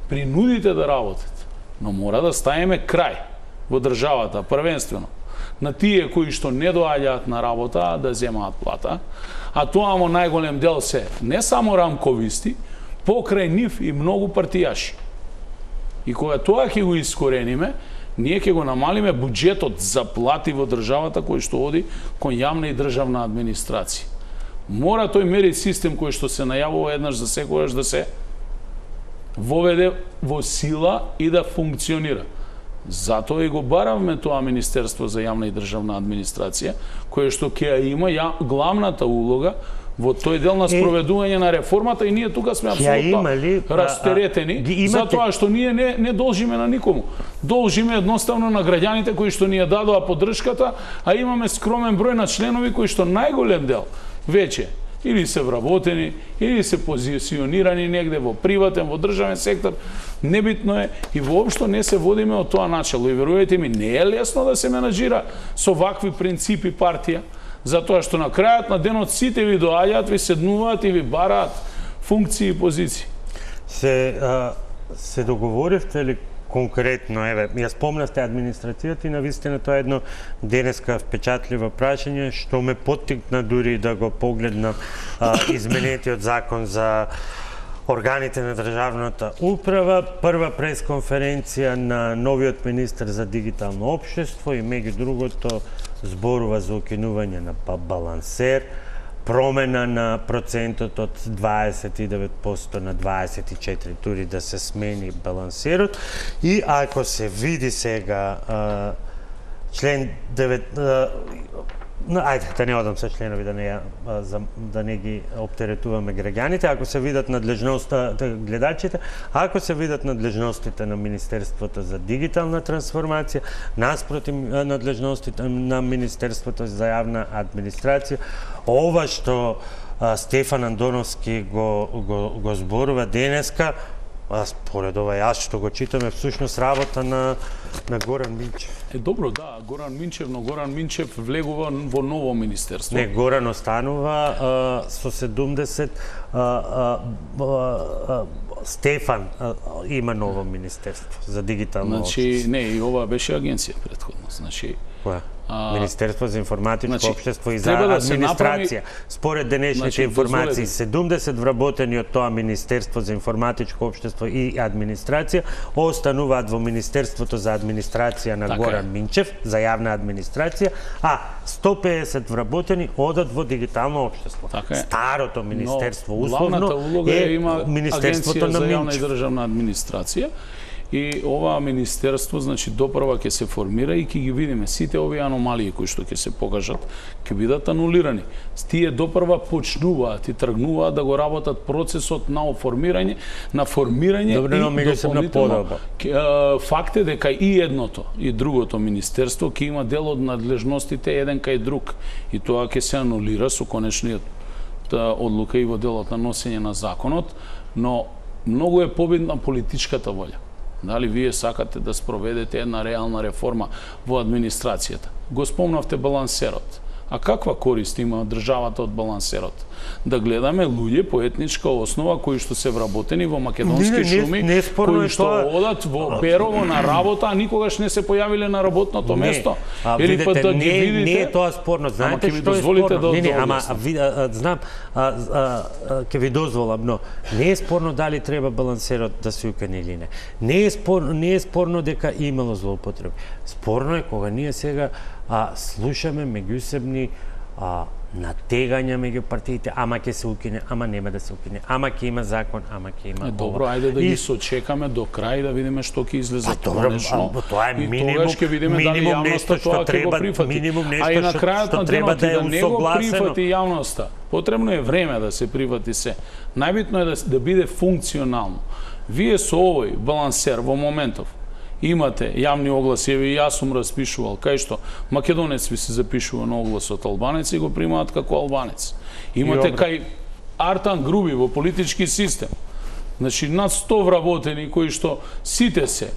принудите да работат. Но мора да ставиме крај во државата, првенствено на тие кои што не доаѓаат на работа да земаат плата, а тоа во најголем дел се не само рамковисти, покрај нив и многу партијаши. И кога тоа ќе го искорениме, ние ќе го намалиме буџетот за плати во државата кој што оди кон јавна и државна администрација. Мора тој мери систем кој што се најавува еднаш за секогаш да се воведе во сила и да функционира. Затоа и го баравме тоа Министерство за јавна и државна администрација, кое што ќе ја има ја, главната улога во тој дел на спроведување на реформата, и ние тука сме апсолутно растеретени, затоа што ние не, не должиме на никому. Должиме едноставно на граѓаните кои што ни ја дадоа поддршката, а имаме скромен број на членови кои што најголем дел веќе или се вработени, или се позиционирани негде во приватен, во државен сектор, небитно е, и воопшто не се водиме од тоа начало. И верувајте ми, не е лесно да се менаџира со вакви принципи партија, затоа што на крајот на денот сите ви доаѓаат, ви седнуваат и ви бараат функции и позиции. Се, а, се договоривте ли конкретно, еве, ја спомнавте администрацијата и навистина тоа е едно денеска впечатливо прашање што ме поттикна дури да го погледнам а, изменетиот закон за органите на државната управа, прва пресконференција на новиот министер за дигитално општество и меѓу другото зборува за укинување на балансер, промена на процентот од дваесет и девет проценти на дваесет и четири проценти, дури да се смени балансерот. И ако се види сега а, член девет, а, ајде да не одам со членови да не а, за, да не ги оптеретуваме граѓаните, ако се видат надлежноста гледачите, ако се видат надлежностите на Министерството за дигитална трансформација, наспроти надлежностите на Министерството за јавна администрација, ова што а, Стефан Андоновски го, го, го зборува денеска, а според ова јас што го читаме, всушност работа на, на Горан Минчев. Е, добро, да, Горан Минчев, но Горан Минчев влегува во ново министерство. Не, Горан останува а, со седумдесет, а, а, а, Стефан а, има ново министерство за дигитално Значи, општество. не, и ова беше агенција претходно, значи... Која? Министерство за информатичко значи, општество и за да администрација. Направи... Според денешните значи, информации, дозволете. седумдесет вработени од тоа Министерство за информатичко општество и администрација остануваат во Министерството за администрација на така Горан е. Минчев, за јавна администрација, а сто пеесет вработени одат во дигитално општество. Така Старото министерство, но, условно, улога е има Министерството на за јавна Минчев. и државна администрација. И ова министерство, значи, допрва ќе се формира и ќе ги видиме сите овие аномалии кои што ќе се покажат, ќе бидат анулирани. Тие допрва почнуваат и тргнуваат да го работат процесот на оформирање, на формирање Добре, и дополнително. Факт е дека и едното и другото министерство ќе има дел од надлежностите еден кај друг, и тоа ќе се анулира со конечниот одлука и во делот на носење на законот, но многу е победна политичката волја. Дали вие сакате да спроведете една реална реформа во администрацијата? Го спомнавте балансерот. А каква корист има државата од балансерот? Да гледаме луѓе по етничка основа кои што се вработени во македонски не, не, шуми, не, не кои што тоа... одат во Берово на работа, а никогаш не се појавиле на работното не. место. А, Или видите, па да ги не, видите... Не е тоа спорно. Знаете што е спорно? Да, не, не, ама ви, а, знам, а, а, а, ке ви дозволам, но не е спорно дали треба балансерот да се укане или не. Не е спорно, не е спорно дека имало злоупотреби. Спорно е кога ние сега а, слушаме меѓусебни а, натегања меѓу партиите, ама ќе се укине, ама нема да се укине, ама ќе има закон, ама ќе има. Е, добро, ова. ајде да и... ги сочекаме до крај да видиме што ќе излезе а, конечно. А, тоа е минимум, и тогаш ќе видиме дали јавноста тоа ќе го прифати. Минимум нешто а и на крајот што, на што треба да е да не го усогласено. прифати јавноста. Потребно е време да се прифати се. Најбитно е да, да биде функционално. Вие со овој балансер во моментов имате јавни огласи, еве и јас сум распишувал, кај што македонец ви се запишува на оглас од албанец и го примаат како албанец. Имате кај Артан Груби во политички систем, Значи, над сто вработени кои што сите се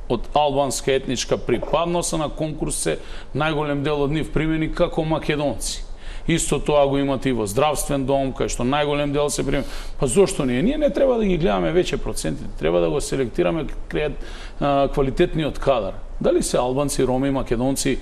од албанска етничка припадност, на конкурс се најголем дел од нив примени како македонци. Исто тоа го имате и во здравствен дом, кај што најголем дел се примени. Па зошто не? Ние не треба да ги гледаме веќе процентите, треба да го селектираме квалитетниот кадар. Дали се албанци, роми, македонци,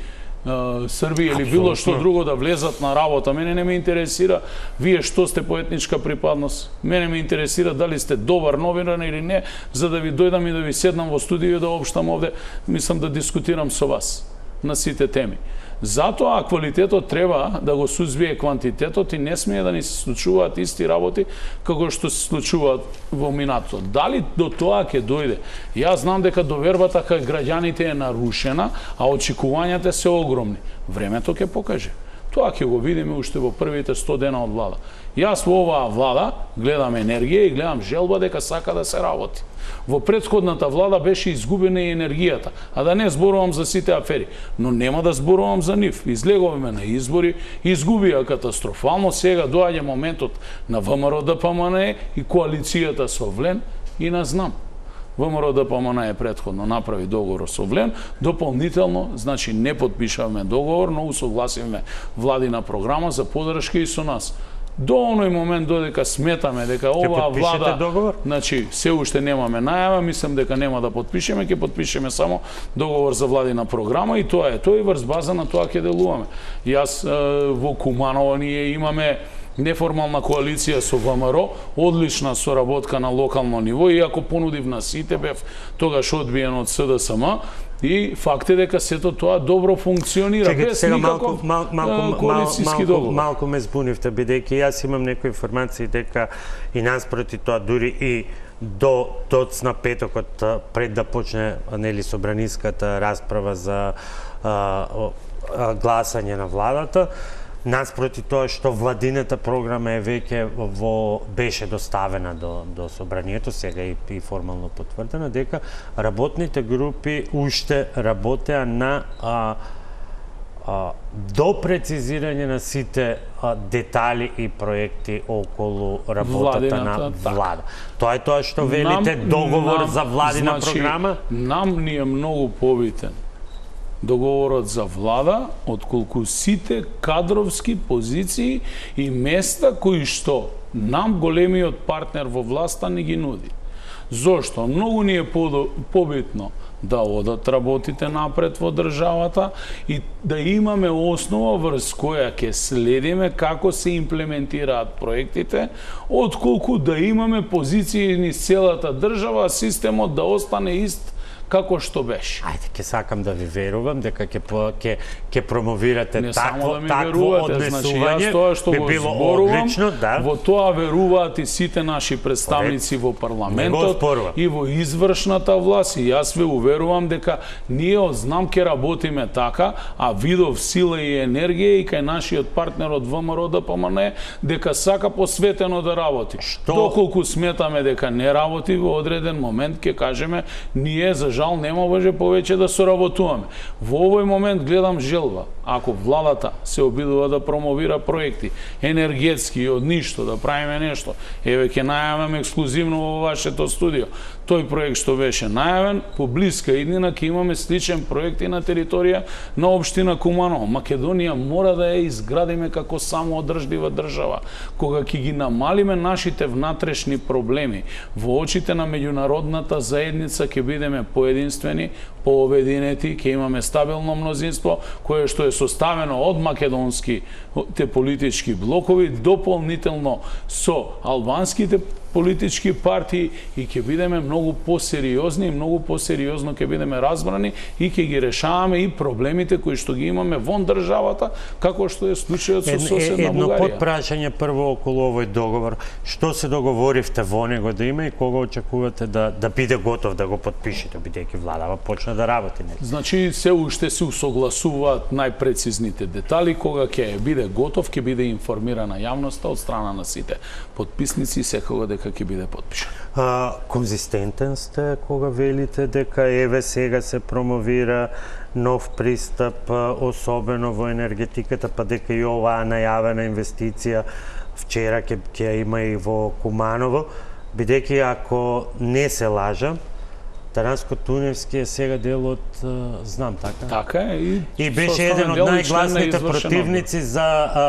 Срби или било што друго да влезат на работа. Мене не ме интересира вие што сте по етничка припадност. Мене ме интересира дали сте добар новинар или не, за да ви дојдам и да ви седнам во студио и да обштам овде, мислам да дискутирам со вас на сите теми. Затоа квалитетот треба да го сузбие квантитетот и не смее да ни се случуваат исти работи како што се случуваат во минатото. Дали до тоа ќе дојде? Јас знам дека довербата кај граѓаните е нарушена, а очекувањата се огромни. Времето ќе покаже. Тоа ќе го видиме уште во првите сто дена од влада. Јас во оваа влада гледам енергија и гледам желба дека сака да се работи. Во претходната влада беше изгубена и енергијата, а да не зборувам за сите афери, но нема да зборувам за нив. Излеговме на избори, изгубија катастрофално, сега доаѓа моментот на ВМРО-ДПМНЕ и коалицијата со Влен и на знам. ВМРО-ДПМНЕ претходно направи договор со Влен, дополнително, значи не подпишавме договор, но усогласивме владина програма за подршка и со нас. До оној момент додека сметаме дека оваа влада, договор? Значи се уште немаме најава, мислам дека нема да подпишеме, ќе подпишеме само договор за владина програма и тоа е. Тоа и врз база на тоа ќе делуваме. Јас во Куманово ние имаме неформална коалиција со ВМРО, одлична соработка на локално ниво, иако понудив на сите бев тогаш одбиен од СДСМ, и факт е дека сето тоа добро функционира. Чекайте, сега малку, мал, малку, коалициски малку, малку ме збунивте, бидејќи јас имам некои информации дека и наспроти тоа дури и до тоцна петокот пред да почне нели собраниската расправа за а, а, гласање на владата, наспроти тоа што владината програма е веќе во беше доставена до до собранието, сега и, и формално потврдена, дека работните групи уште работеа на а, а, до прецизирање на сите а, детали и проекти околу работата на влада. Тоа е тоа што велите нам, договор нам, за владина значи, програма? Нам ни е многу побитен договорот за влада, отколку сите кадровски позиции и места кои што нам големиот партнер во власта ни ги нуди. Зошто? Многу ни е побитно да одат работите напред во државата и да имаме основа врз која ќе следиме како се имплементираат проектите, отколку да имаме позиции низ целата држава, системот да остане ист како што беше. Ајде, ќе сакам да ви верувам дека ќе ќе ќе промовирате не такво да такво однесување. Значи, тоа што би го било зборувам, одлично, да. Во тоа веруваат и сите наши представници во парламентот и во извршната власт, и јас ве уверувам дека ние од знам ке работиме така, а видов сила и енергија и кај нашиот партнер од ВМРО-ДПМНЕ дека сака посветено да работи. Што? Доколку сметаме дека не работи, во одреден момент ќе кажеме ние за жал нема може повеќе да соработуваме. Во овој момент гледам желба, ако владата се обидува да промовира проекти енергетски од ништо, да правиме нешто, еве ќе најавам ексклузивно во вашето студио, тој проект што беше најавен, по блиска иднина ќе имаме сличен проект и на територија на општина Куманово. Македонија мора да ја изградиме како самоодржлива држава, кога ќе ги намалиме нашите внатрешни проблеми. Во очите на меѓународната заедница ќе бидеме поединствени, пообединети, ќе имаме стабилно мнозинство кое што е составено од македонски те политички блокови, дополнително со албанските политички партии, и ќе бидеме многу посериозни и многу посериозно ќе бидеме разбрани и ќе ги решаваме и проблемите кои што ги имаме вон државата, како што е случајот со соседна Едно Бугарија. подпрашање прво околу овој договор. Што се договоривте во него да има и кога очекувате да да биде готов да го подпишете, бидејќи владава почна да работи? Не? Значи се уште се усогласуваат најпрецизните детали, кога ќе биде готов, ќе биде информирана јавноста од страна на сите подписници секогаш дека ќе биде подпишан. А, конзистентен сте кога велите дека еве сега се промовира нов пристап, особено во енергетиката, па дека и оваа најавена инвестиција вчера ќе ќе има и во Куманово. бидејќи ако не се лажам, Таранско-Туневски е сега дел од знам така. Така е и и беше еден од најгласните противници за а,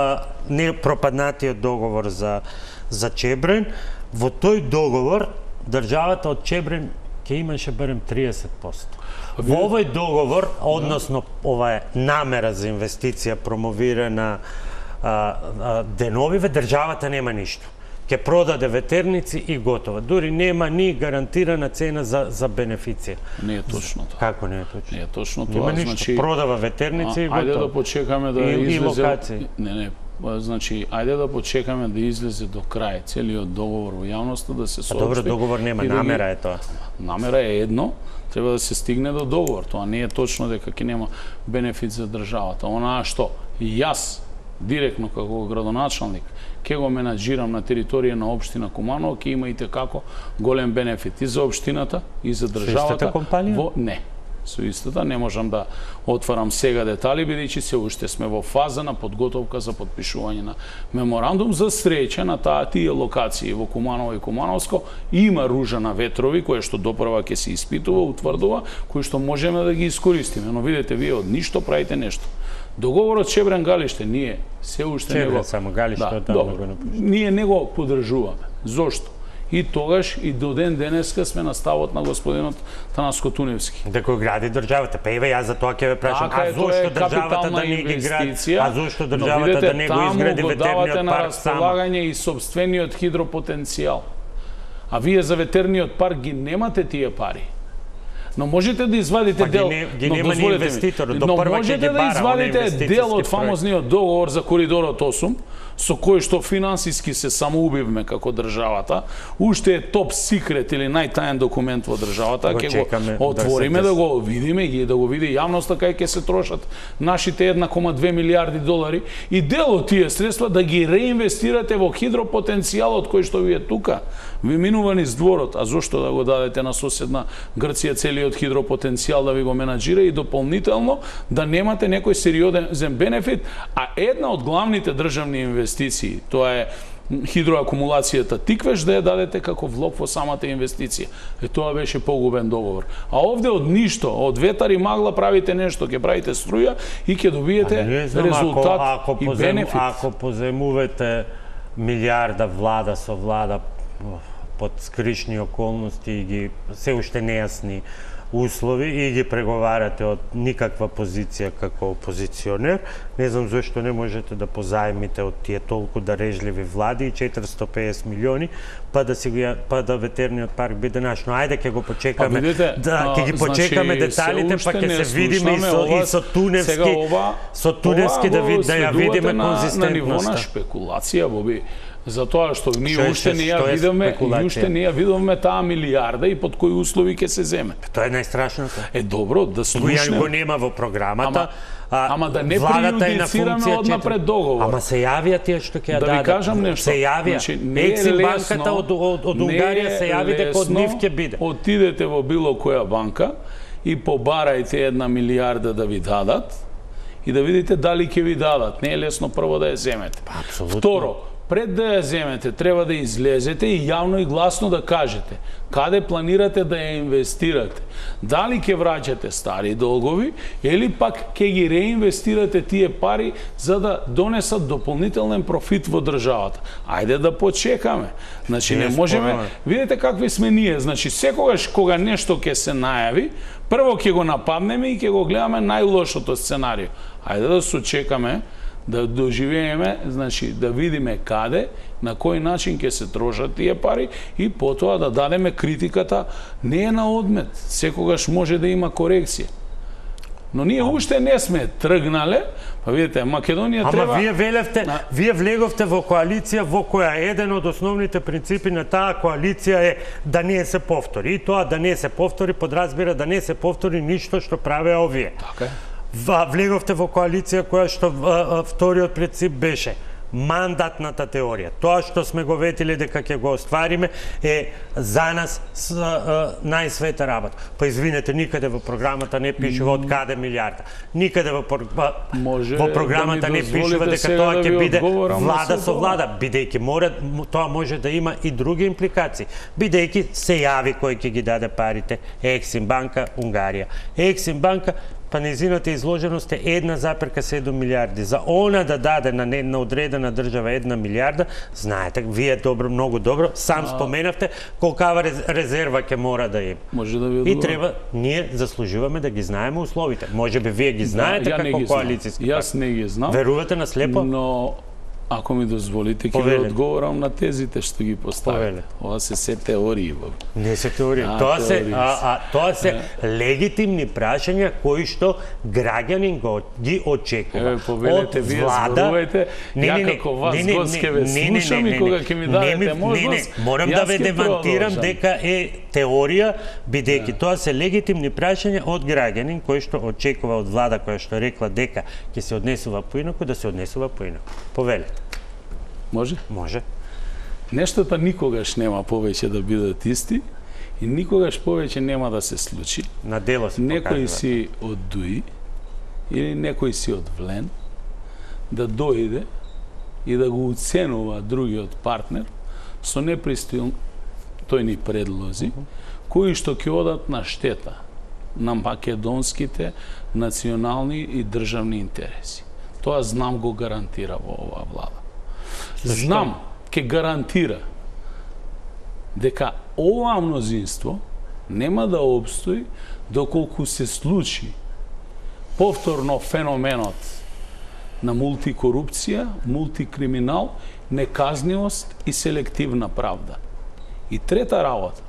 не пропаднатиот договор за за Чебрен. Во тој договор државата од Чебрен ќе имаше барем триесет проценти. Во овој договор, односно ова е намера за инвестиција промовирана а, а, деновиве, државата нема ништо. Ќе продаде ветерници и готово. Дури нема ни гарантирана цена за за бенефиција. Не е точно тоа. Како не е точно? Не е точно тоа. Нема ништо. Значи продава ветерници и готово. Ајде да почекаме да и, излезе. И не, не. Значи, ајде да почекаме да излезе до крај целиот договор во јавноста, да се соопшти. А добро, договор нема, намера да е тоа. Намера е едно, треба да се стигне до договор. Тоа не е точно дека ќе нема бенефит за државата. Онаа што јас директно како градоначалник ќе го менаџирам на територија на општина Куманово, ќе има и како голем бенефит и за општината и за државата. Со истата компанија? Во не. Со истата не можам да отварам сега детали, бидејќи се уште сме во фаза на подготовка за подпишување на меморандум. За среќа на таа тие локации во Куманово и Кумановско има ружа на ветрови која што допрва ќе се испитува, утврдува, кои што можеме да ги искористиме. Но видете, вие од ништо правите нешто. Договорот Чебрен Галиште ние се уште Чебрен, него само Галиште да, одамна добро, го напишуваме. Ние не го поддржуваме. Зошто? И тогаш и до ден денеска сме на ставот на господинот Танаско-Туневски. Дека го гради државата. Па еве јас за тоа ќе ве прашам, така а е, зошто државата да не ги гради? А зошто државата да не го изгради ветерниот на парк само? располагање и сопствениот хидропотенцијал. А вие за ветерниот парк ги немате тие пари. Но можете да извадите па, дел, ги, не, ги но нема ни инвеститор, до но прва можете ќе ги да бара, извадите дел од фамозниот договор за коридорот осум, со кој што финансиски се самоубивме како државата, уште е топ секрет или најтаен документ во државата, ќе го отвориме да, да го видиме и да го види јавноста кај ќе се трошат нашите една кома две милиарди долари и дел од тие средства да ги реинвестирате во хидропотенцијалот кој што ви е тука. Ви минува низ дворот, а зошто да го дадете на соседна Грција целиот хидропотенцијал да ви го менаџира и дополнително да немате некој сериозен бенефит, а една од главните државни инвестиции, тоа е хидроакумулацијата Тиквеш, да ја дадете како влог во самата инвестиција. Е, тоа беше погубен договор. А овде од ништо, од ветар и магла правите нешто, ќе правите струја и ќе добиете знам, резултат ако, ако и позем, бенефит. Ако поземувате милиарда влада со влада под скришни околности и ги се уште нејасни услови и ги преговарате од никаква позиција како опозиционер, не знам зошто не можете да позаемите од тие толку дарежливи влади и четиристо и песет милиони, па да си ги па да ветерниот парк биде наш. Но ајде ќе го почекаме, видите, да ќе ги почекаме значи, деталите, па ќе се видиме и со ова, и со Туневски, ова, со Туневски да ви, да ја видиме конзистентноста. На ниво на шпекулација, Боби. Затоа што ние што уште не ја видиме и уште не ја видиме таа милиарда и под кои услови ќе се земе. Тоа е најстрашното. Е добро да слушнем. Го нема во програмата. Ама, а, ама да не преюдицираме однапред договор. Ама се јавија тие што ќе ја дадат. Да ви кажам нешто. Се јавија. Значи, не е Ексим лесно, банката од, од, од Унгарија се јави дека од нив ќе биде. Отидете во било која банка и побарајте една милиарда да ви дадат и да видите дали ќе ви дадат. Не е лесно прво да ја земете. Апсолутно. Второ, пред да ја земете, треба да излезете и јавно и гласно да кажете каде планирате да ја инвестирате. Дали ќе враќате стари долгови или пак ќе ги реинвестирате тие пари за да донесат дополнителен профит во државата. Ајде да почекаме. Значи не можеме, видите какви сме ние, значи секогаш кога нешто ќе се најави, прво ќе го нападнеме и ќе го гледаме најлошото сценарио. Ајде да се чекаме да доживееме, значи да видиме каде, на кој начин ќе се трошат тие пари и потоа да дадеме критиката не е на одмет, секогаш може да има корекција. Но ние уште не сме тргнале, па видите, Македонија Ама треба... Ама вие велевте, на... вие влеговте во коалиција во која еден од основните принципи на таа коалиција е да не се повтори. И тоа да не се повтори подразбира да не се повтори ништо што правеа овие. Така е. Влеговте во коалиција која што вториот принцип беше мандатната теорија. Тоа што сме го ветили дека ќе го оствариме е за нас с, а, најсвета работа. Па извинете, никаде во програмата не пишува од каде милиарда. Никаде во, во програмата да не пишува дека тоа ќе да биде влада со влада, бидејќи мора тоа може да има и други импликации. Бидејќи се јави кој ќе ги даде парите, Ексим банка, Унгарија. Ексим банка, па незината изложеност е една запирка седум милиарди. За она да даде на една одредена држава една милиарда, знаете, вие добро, многу добро, сам а... споменавте колкава резерва ќе мора да има. Може да ви И треба, ние заслужуваме да ги знаеме условите. Може би вие ги знаете да, како коалицијски партнер. Јас не ги знам. Верувате на слепо? Но ако ми дозволите, ќе ви одговорам на тезите што ги поставите. Ова се се теории. Не се теории. А, тоа се, а, а, тоа се е. легитимни прашања кои што граѓанин го ги очекува. Еве, повелете, вие зборувајте, ја како вас гостке ве слушам и кога ќе ми дадете можност, морам да ве демантирам дека е теорија, бидејќи тоа се легитимни прашања од граѓанин кој што очекува од влада која што рекла дека ќе се однесува поинаку, да се однесува поинаку. Повелете. Може? Може. Нештата никогаш нема повеќе да бидат исти и никогаш повеќе нема да се случи. На дело се покажува. Некој си да. од Дуи или некој си од Влен да дојде и да го уценува другиот партнер со непристојни предлози, uh -huh. кои што ќе одат на штета на македонските национални и државни интереси. Тоа знам го гарантира во оваа влада. Знам ќе гарантира дека ова мнозинство нема да обстои доколку се случи повторно феноменот на мултикорупција, мултикриминал, неказнивост и селективна правда. И трета работа,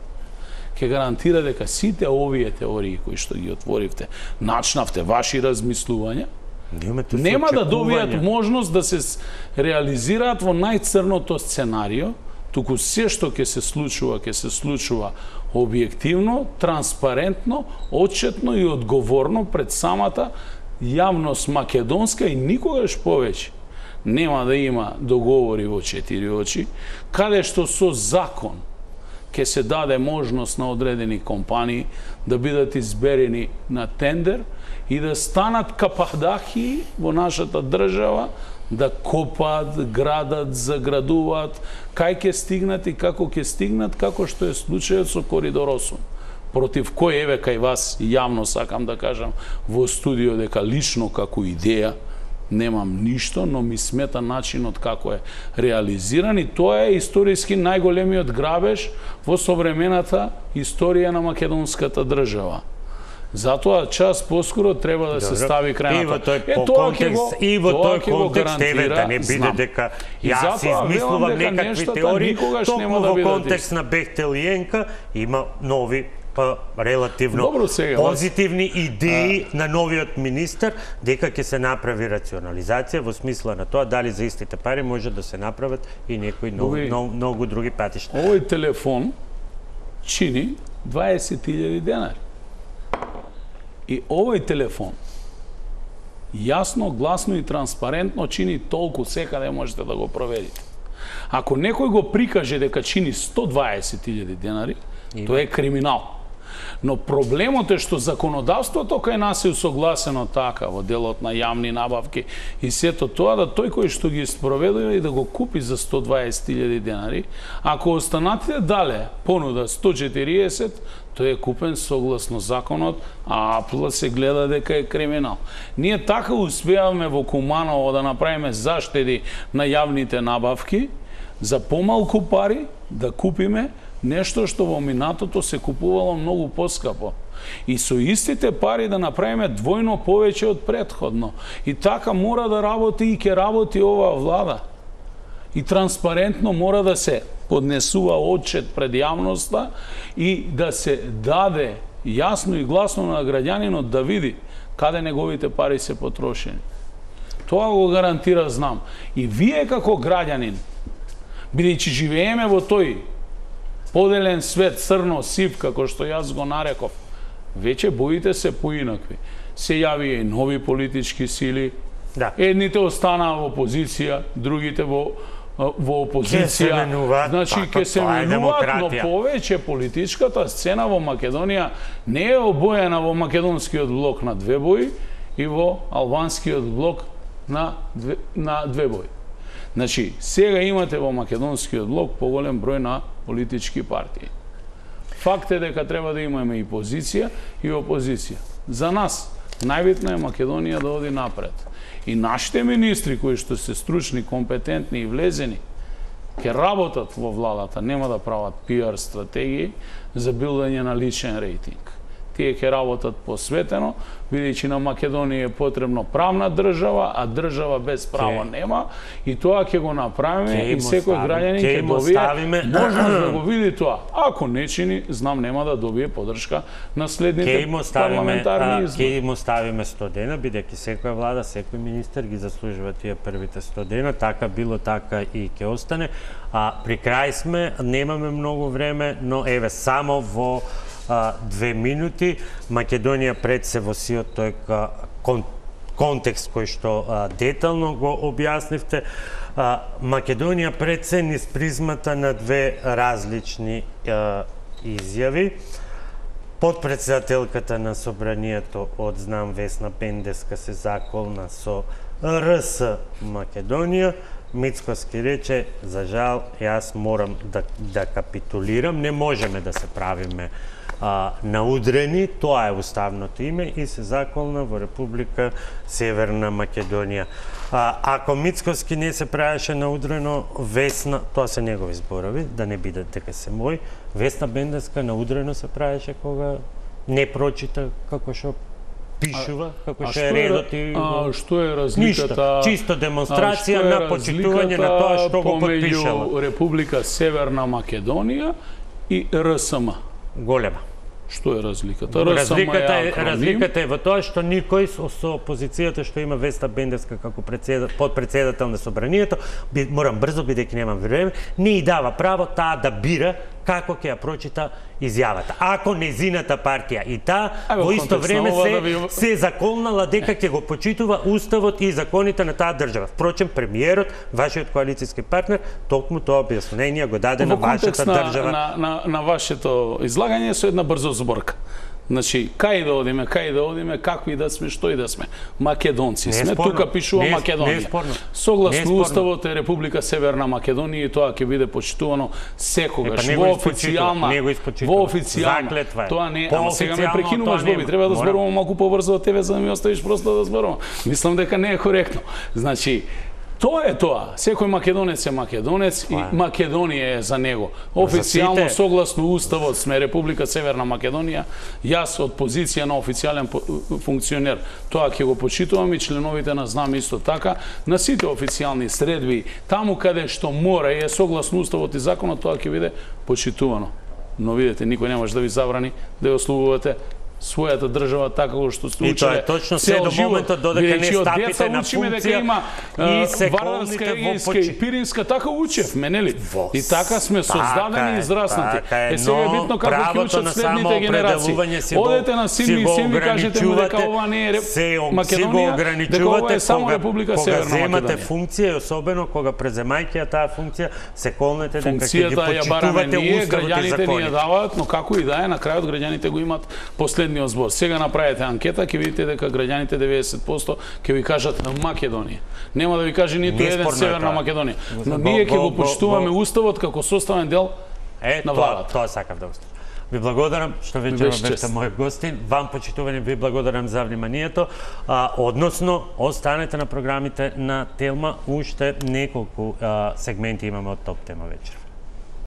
ќе гарантира дека сите овие теории кои што ги отворивте, начнавте ваши размислувања, нема да добијат можност да се реализираат во најцрното сценарио, туку се што ќе се случува, ќе се случува објективно, транспарентно, отчетно и одговорно пред самата јавност македонска и никогаш повеќе нема да има договори во четири очи, каде што со закон ќе се даде можност на одредени компании да бидат изберени на тендер и да станат капардахи во нашата држава, да копаат, градат, заградуваат, кај ќе стигнат и како ќе стигнат, како што е случајот со Коридор осум. Против кој, еве, кај вас, јавно сакам да кажам во студио дека лично како идеја немам ништо, но ми смета начинот како е реализиран и тоа е историски најголемиот грабеж во современата историја на македонската држава. Затоа час поскоро треба да се стави крај на тоа. Е, тоа ќе го и во тој контекст еве да не биде дека јас измислувам некакви теории, токму во контекст на Бехтел и Енка има нови па релативно Добро, сега, позитивни идеи а... на новиот министер дека ќе се направи рационализација во смисла на тоа дали за истите пари може да се направат и некои нови, нов, многу други патишта. Овој телефон чини дваесет илјади денари. И овој телефон јасно, гласно и транспарентно чини толку, секаде можете да го проверите. Ако некој го прикаже дека чини сто дваесет илјади денари, Има. тоа е криминал. Но проблемот е што законодавството кај нас е усогласено така во делот на јавни набавки и сето тоа да тој кој што ги спроведува и да го купи за сто дваесет илјади денари, ако останатите дале понуда сто четириесет, тој е купен согласно законот, а апл се гледа дека е криминал. Ние така успеавме во Куманово да направиме заштеди на јавните набавки за помалку пари да купиме нешто што во минатото се купувало многу поскапо. И со истите пари да направиме двојно повеќе од претходно. И така мора да работи и ќе работи оваа влада. И транспарентно мора да се поднесува отчет пред јавноста и да се даде јасно и гласно на граѓанинот да види каде неговите пари се потрошени. Тоа го гарантира, знам. И вие како граѓанин, бидејќи живееме во тој поделен свет, црно-сив, како што јас го нареков, веќе боите се поинакви. Се јавија и нови политички сили, Да. Едните останаа во опозиција, другите во во опозиција. Значи ќе се менуваат, но повеќе политичката сцена во Македонија не е обоена во македонскиот блок на две бои и во албанскиот блок на две, на две бои. Значи, сега имате во македонскиот блок поголем број на политички партии. Факт е дека треба да имаме и позиција и опозиција. За нас најбитно е Македонија да оди напред. И нашите министри кои што се стручни, компетентни и влезени, ќе работат во владата, нема да прават пиар стратегии за билдање на личен рейтинг. Тие ќе работат посветено, бидејќи на Македонија е потребно правна држава, а држава без право ке... нема, и тоа ќе го направиме ке и секој граѓанин ќе добие ставиме... можност да го види тоа. Ако не чини, знам нема да добие поддршка на следните парламентарни избори. Ќе им оставиме сто дена, бидејќи секоја влада, секој министер ги заслужува тие првите сто дена, така било, така и ќе остане. А при крај сме, немаме многу време, но еве само во две минути. Македонија пред се во сиот тој кон, контекст кој што а, детално го објаснивте. А, Македонија пред се низ призмата на две различни а, изјави. Подпредседателката на Собранието од Знам Весна Пендеска се заколна со Р С Македонија. Мицкоски рече, за жал, јас морам да, да капитулирам, не можеме да се правиме а, наудрени, тоа е уставното име и се заколна во Република Северна Македонија. А, ако Мицкоски не се правеше наудрено, Весна, тоа се негови зборови, да не биде дека се мој, Весна Пендеска наудрено се правеше кога не прочита како што пишува, како што е редот и... А што е разликата... Ништо, чисто демонстрација на почитување на тоа што го потпишала. Помеѓу Република Северна Македонија и Р С М? Голема. Што е разликата? Разликата е, разликата е во тоа што никој со опозицијата што има Весна Пендеска како подпредседател на Собранието, морам брзо, бидејќи немам време, не и дава право таа да бира како ќе ја прочита изјавата. Ако незината партија и таа во исто време се, да ви... се заколнала дека ќе го почитува уставот и законите на таа држава. Впрочем, премиерот, вашиот коалицијски партнер, токму тоа објаснение го даде на вашата држава. На, на, на вашето излагање со една брза зборка. Значи, кај да одиме, кај да одиме, какви да сме, што и да сме. Македонци сме, тука пишува не, Македонија. Не Согласно не уставот е Република Северна Македонија и тоа ќе биде почитувано секогаш. Е, па, во официјална, во официјална. Тоа не, ама сега ме прекинуваш, Боби, треба да зборувам малку побрзо од тебе за да ми оставиш просто да зборувам. Мислам дека не е коректно. Значи, тоа е тоа. Секој македонец е македонец и Македонија е за него. Официјално, согласно уставот, сме Република Северна Македонија. Јас од позиција на официјален функционер тоа ќе го почитувам и членовите на Знам исто така. На сите официјални средби, таму каде што мора и е согласно уставот и законот, тоа ќе биде почитувано. Но видете, никој не може да ви забрани да ја ослужувате својата држава така што сте учеле. И тоа е точно се до моментот додека не стапите на функција има, и се Вардарска и Пиринска, така учевме, нели? И така сме создадени и израснати. Е сега е битно како ќе учат следните генерации. Одете на Силви и Силви кажете му дека ова не е Македонија, дека ова е само Република Северна Македонија. Кога земате функција, особено кога преземајќи таа функција, се колнете дека ќе ги почитувате уставот и граѓаните ни ја даваат, но како и да е, на крајот граѓаните го имат последниот збор. Сега направете анкета, ќе видите дека граѓаните деветдесет проценти ќе ви кажат на Македонија. Нема да ви каже ниту еден Северна Македонија. Но ние ќе го почитуваме уставот како составен дел на владата. Тоа сакав да оставам. Ви благодарам што вечерва бевте мој гостин. Вам, почитувани, ви благодарам за вниманието. А, односно, останете на програмите на Телма. Уште неколку а, сегменти имаме од Топ Тема вечер.